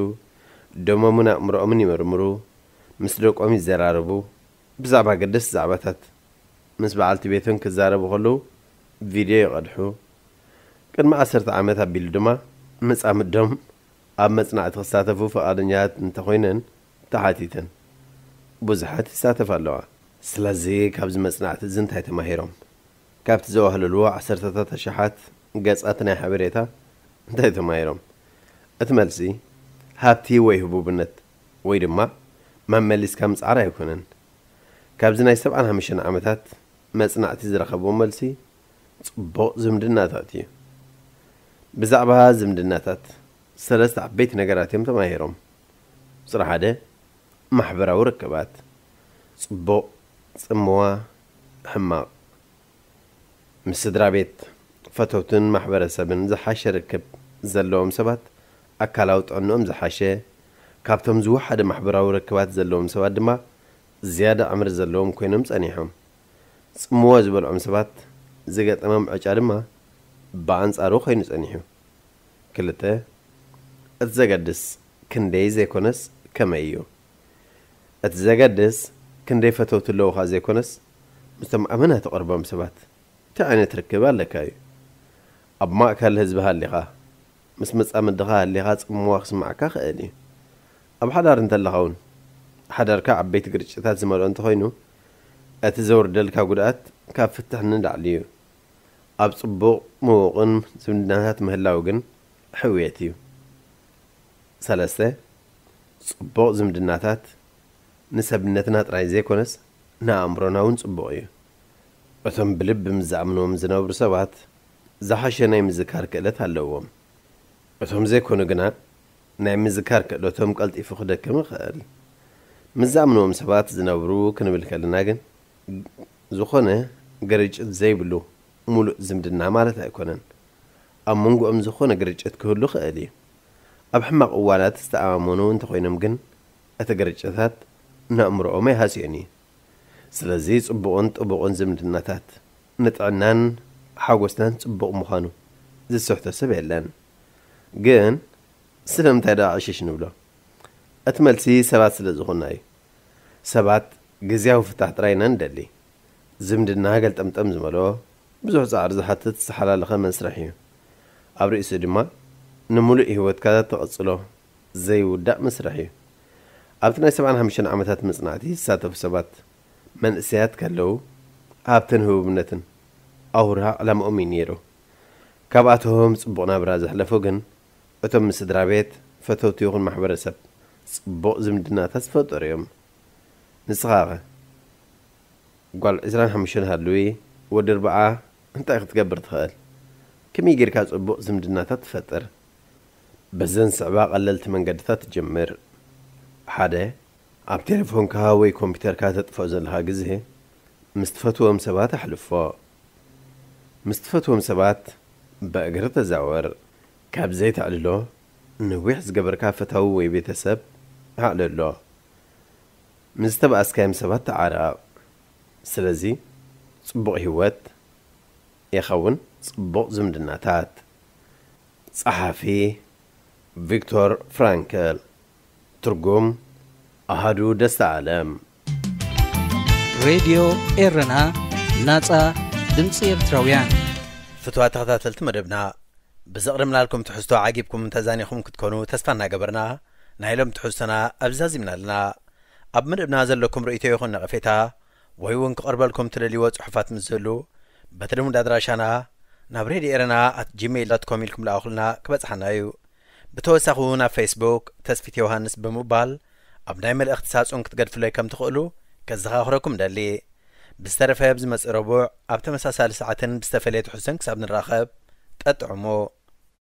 ደሞምን ኣእምሮኦምን ይምርምሩ፣ ምስ ደቆም ይዘራረቡ፣ ብዛዕባ ኣገደስቲ ዛዕባታት ምስ በዓልቲ ቤቶም ክዛረቡ ከለዉ ቪድዮ ይቐድሑ። ቅድሚ ዓሰርተ ዓመት ኣቢሉ ድማ መጻምዶም ኣብ መጽናዕቲ ክሳተፉ ፍቓደኛታት እንተኾይነን ተሓቲተን። ብዙሓት ይሳተፋ ኣለዋ። ስለዚ ካብዚ መጽናዕቲ እዚ እንታይ ተማሂሮም? ካብቲ ዘዋህለልዎ ዓሰርተታት ኣሽሓት ገጻት ናይ ሓበሬታ እንታይ ተማሂሮም? እቲ መልሲ ሃብቲ ወይ ህቡብነት ወይ ድማ መመሊስካ ምጽዓር ኣይኮነን። ካብዚ ናይ ሰብዓን ሓሙሽተን ዓመታት መጽናዕቲ ዝረኸብዎ መልሲ ጽቡቕ ዝምድናታት እዩ። ብዛዕባ ዝምድናታት ሰለስተ ዓበይቲ ነገራት እዮም ተማሂሮም። ቁጽሪ ሓደ፣ ማሕበራዊ ርክባት፣ ጽቡቕ፣ ጽምዋ፣ ሕማቕ። ምስ ስድራ ቤት፣ ፈተውትን ማሕበረሰብን ዝሓሸ ርክብ ዘለዎም ሰባት ኣካላዊ ጥዕንኦም ዝሓሸ፣ ካብቶም ዝወሓደ ማሕበራዊ ርክባት ዘለዎም ሰባት ድማ ዝያዳ ዕምሪ ዘለዎም ኮይኖም ጸኒሖም። ጽምዋ ዝበልዖም ሰባት ዝገጠሞም ዕጫ ድማ ብኣንጻሩ ኮይኑ ጸኒሑ። ክልተ፣ እቲ ዘገድስ ክንደይ ዘይኮነስ ከመይ እዩ። እቲ ዘገድስ ክንደይ ፈተውቲ ኣለዉኻ ዘይኮነስ፣ ምስቶም ኣመና ትቐርቦም ሰባት እንታይ ዓይነት ርክብ ኣለካ እዩ። ኣብ ማእከል ህዝቢ ሃሊኻ፣ ምስ መጻምድኻ ሃሊኻ ጽምዋ ክስማዓካ ክእል እዩ። ኣብ ሓዳር እንተለኻ እውን፣ ሓዳርካ ዓበይቲ ግርጭታት ዝመልኦ እንተኾይኑ፣ እቲ ዘውርደልካ ጉድኣት ካብ ፍትሕ ንላዕሊ እዩ። ኣብ ጽቡቕ ምዉቕን ዝምድናታት ምህላው ግን ሕውየት እዩ። ሰለስተ፣ ጽቡቕ ዝምድናታት ንሰብነትና ጥራይ ዘይኮነስ ንኣእምሮና እውን ጽቡቕ እዩ። እቶም ብልቢ ምስ ዝኣምንዎም ዝነብሩ ሰባት ዝሓሸ ናይ ምዝካር ክእለት ኣለዎም። እቶም ዘይኮኑ ግና ናይ ምዝካር ክእለቶም ቀልጢፉ ክደክም ይኽእል። ምስ ዝኣምንዎም ሰባት ዝነብሩ ክንብል ከለና ግን ዝኾነ ግርጭት ዘይብሉ ሙሉእ ዝምድና ማለት ኣይኮነን። ኣብ መንጎኦም ዝኾነ ግርጭት ክህሉ ክእል እዩ። ኣብ ሕማቕ እዋናት ዝተኣማመኑ እንተኾይኖም ግን እቲ ግርጭታት ንኣእምሮኦም ኣይሃስዮን እዩ። ስለዚ ጽቡቕን ጥቡቕን ዝምድናታት ንጥዕናን ሓጎስናን ጽቡቕ ምዃኑ ዝስሕቶ ሰብ የለን። ግን ስለምንታይ ደኣ ዕሽሽ ንብሎ? እቲ መልሲ ሰባት ስለ ዝኾንና እዩ። ሰባት ግዝያዊ ፍታሕ ጥራይ ኢና ንደሊ። ዝምድና ገልጠምጠም ዝመልኦ፣ ብዙሕ ጻዕሪ ዝሓትት ዝተሓላለኸ መስርሕ እዩ። ኣብ ርእሱ ድማ ንምሉእ ህይወትካ ተቐጽሎ ዘይውዳእ መስርሕ እዩ። ኣብቲ ናይ ሰብዓን ሓሙሽተን ዓመታት መጽናዕቲ ዝሳተፉ ሰባት መንእሰያት ከለዉ ሃብትን ህቡብነትን ኣውራ ዕላምኦም እዩ ነይሩ። ካብኣቶም ጽቡቕ ናብራ ዘሕለፉ ግን እቶም ምስ ስድራ ቤት፣ ፈተውቲ ይኹን ማሕበረሰብ ጽቡቕ ዝምድናታት ዝፈጠሩ እዮም። ንስኻኸ? ጓል ዕስራን ሓሙሽተን ሃልዊ፣ ወዲ ኣርብዓ እንታይ ክትገብር ትኽእል? ከመይ ጌርካ ጽቡቕ ዝምድናታት ትፈጥር? በዘን ዝስዕባ ቀለልቲ መንገድታት ጀምር። ሓደ፣ ኣብ ቴሌፎንካ ወይ ኮምፒተርካ ተጥፍኦ ዘለኻ ግዜ ምስ ትፈትዎም ሰባት ኣሕልፎ። ምስ ትፈትዎም ሰባት ብእግሪ ተዛወር። ካብ ዘይተዕልሎ፣ ነዊሕ ዝገበርካ ፈታዊ ወይ ቤተሰብ ኣዕልሎ። ምስ ዝተባኣስካዮም ሰባት ተዓረቕ። ስለዚ፣ ጽቡቕ ህይወት ይኸውን ጽቡቕ ዝምድናታት። ጸሓፊ ቪክቶር ፍራንክል። ትርጉም ኣሃዱ ደስታ ኣለም። ሬድዮ ኤረና፣ ናጻ ድምጺ ኤርትራውያን። ፍትዋት ተኸታተልቲ መደብና፣ ብዘቕረብናልኩም ትሕዝቶ ዓጊብኩም ተዛኒኹም ክትኮኑ ተስፋ እናገበርና፣ ናይ ሎም ትሕዝቶና ኣብዚ ዛዚምና ኣለና። ኣብ መደብና ዘለኩም ርእይቶ ይኹን ነቐፌታ፣ ወይ እውን ክቐርበልኩም ትደልይዎ ጽሑፋት ምስ ዝህሉ፣ በቲ ልሙድ ኣድራሻና ናብ ሬድዮ ኤረና ኣት ጂሜይል ዶት ኮም ኢልኩም ልኣኹልና ክበጽሓና እዩ። ብተወሳኺ እውን ኣብ ፌስቡክ ተስፊት ዮሃንስ ብምባል ኣብ ናይ መልእኽቲ ሳጹን ክትገድፉለይ ከም ትኽእሉ ከዘኻኽረኩም ደሊ። ብዝተረፈ ብዝመጽእ ረቡዕ ኣብ ተመሳሳሊ ሰዓትን ብዝተፈለየ ትሕዝቶን ክሳብ ንራኸብ፣ ጠጥዕሞ።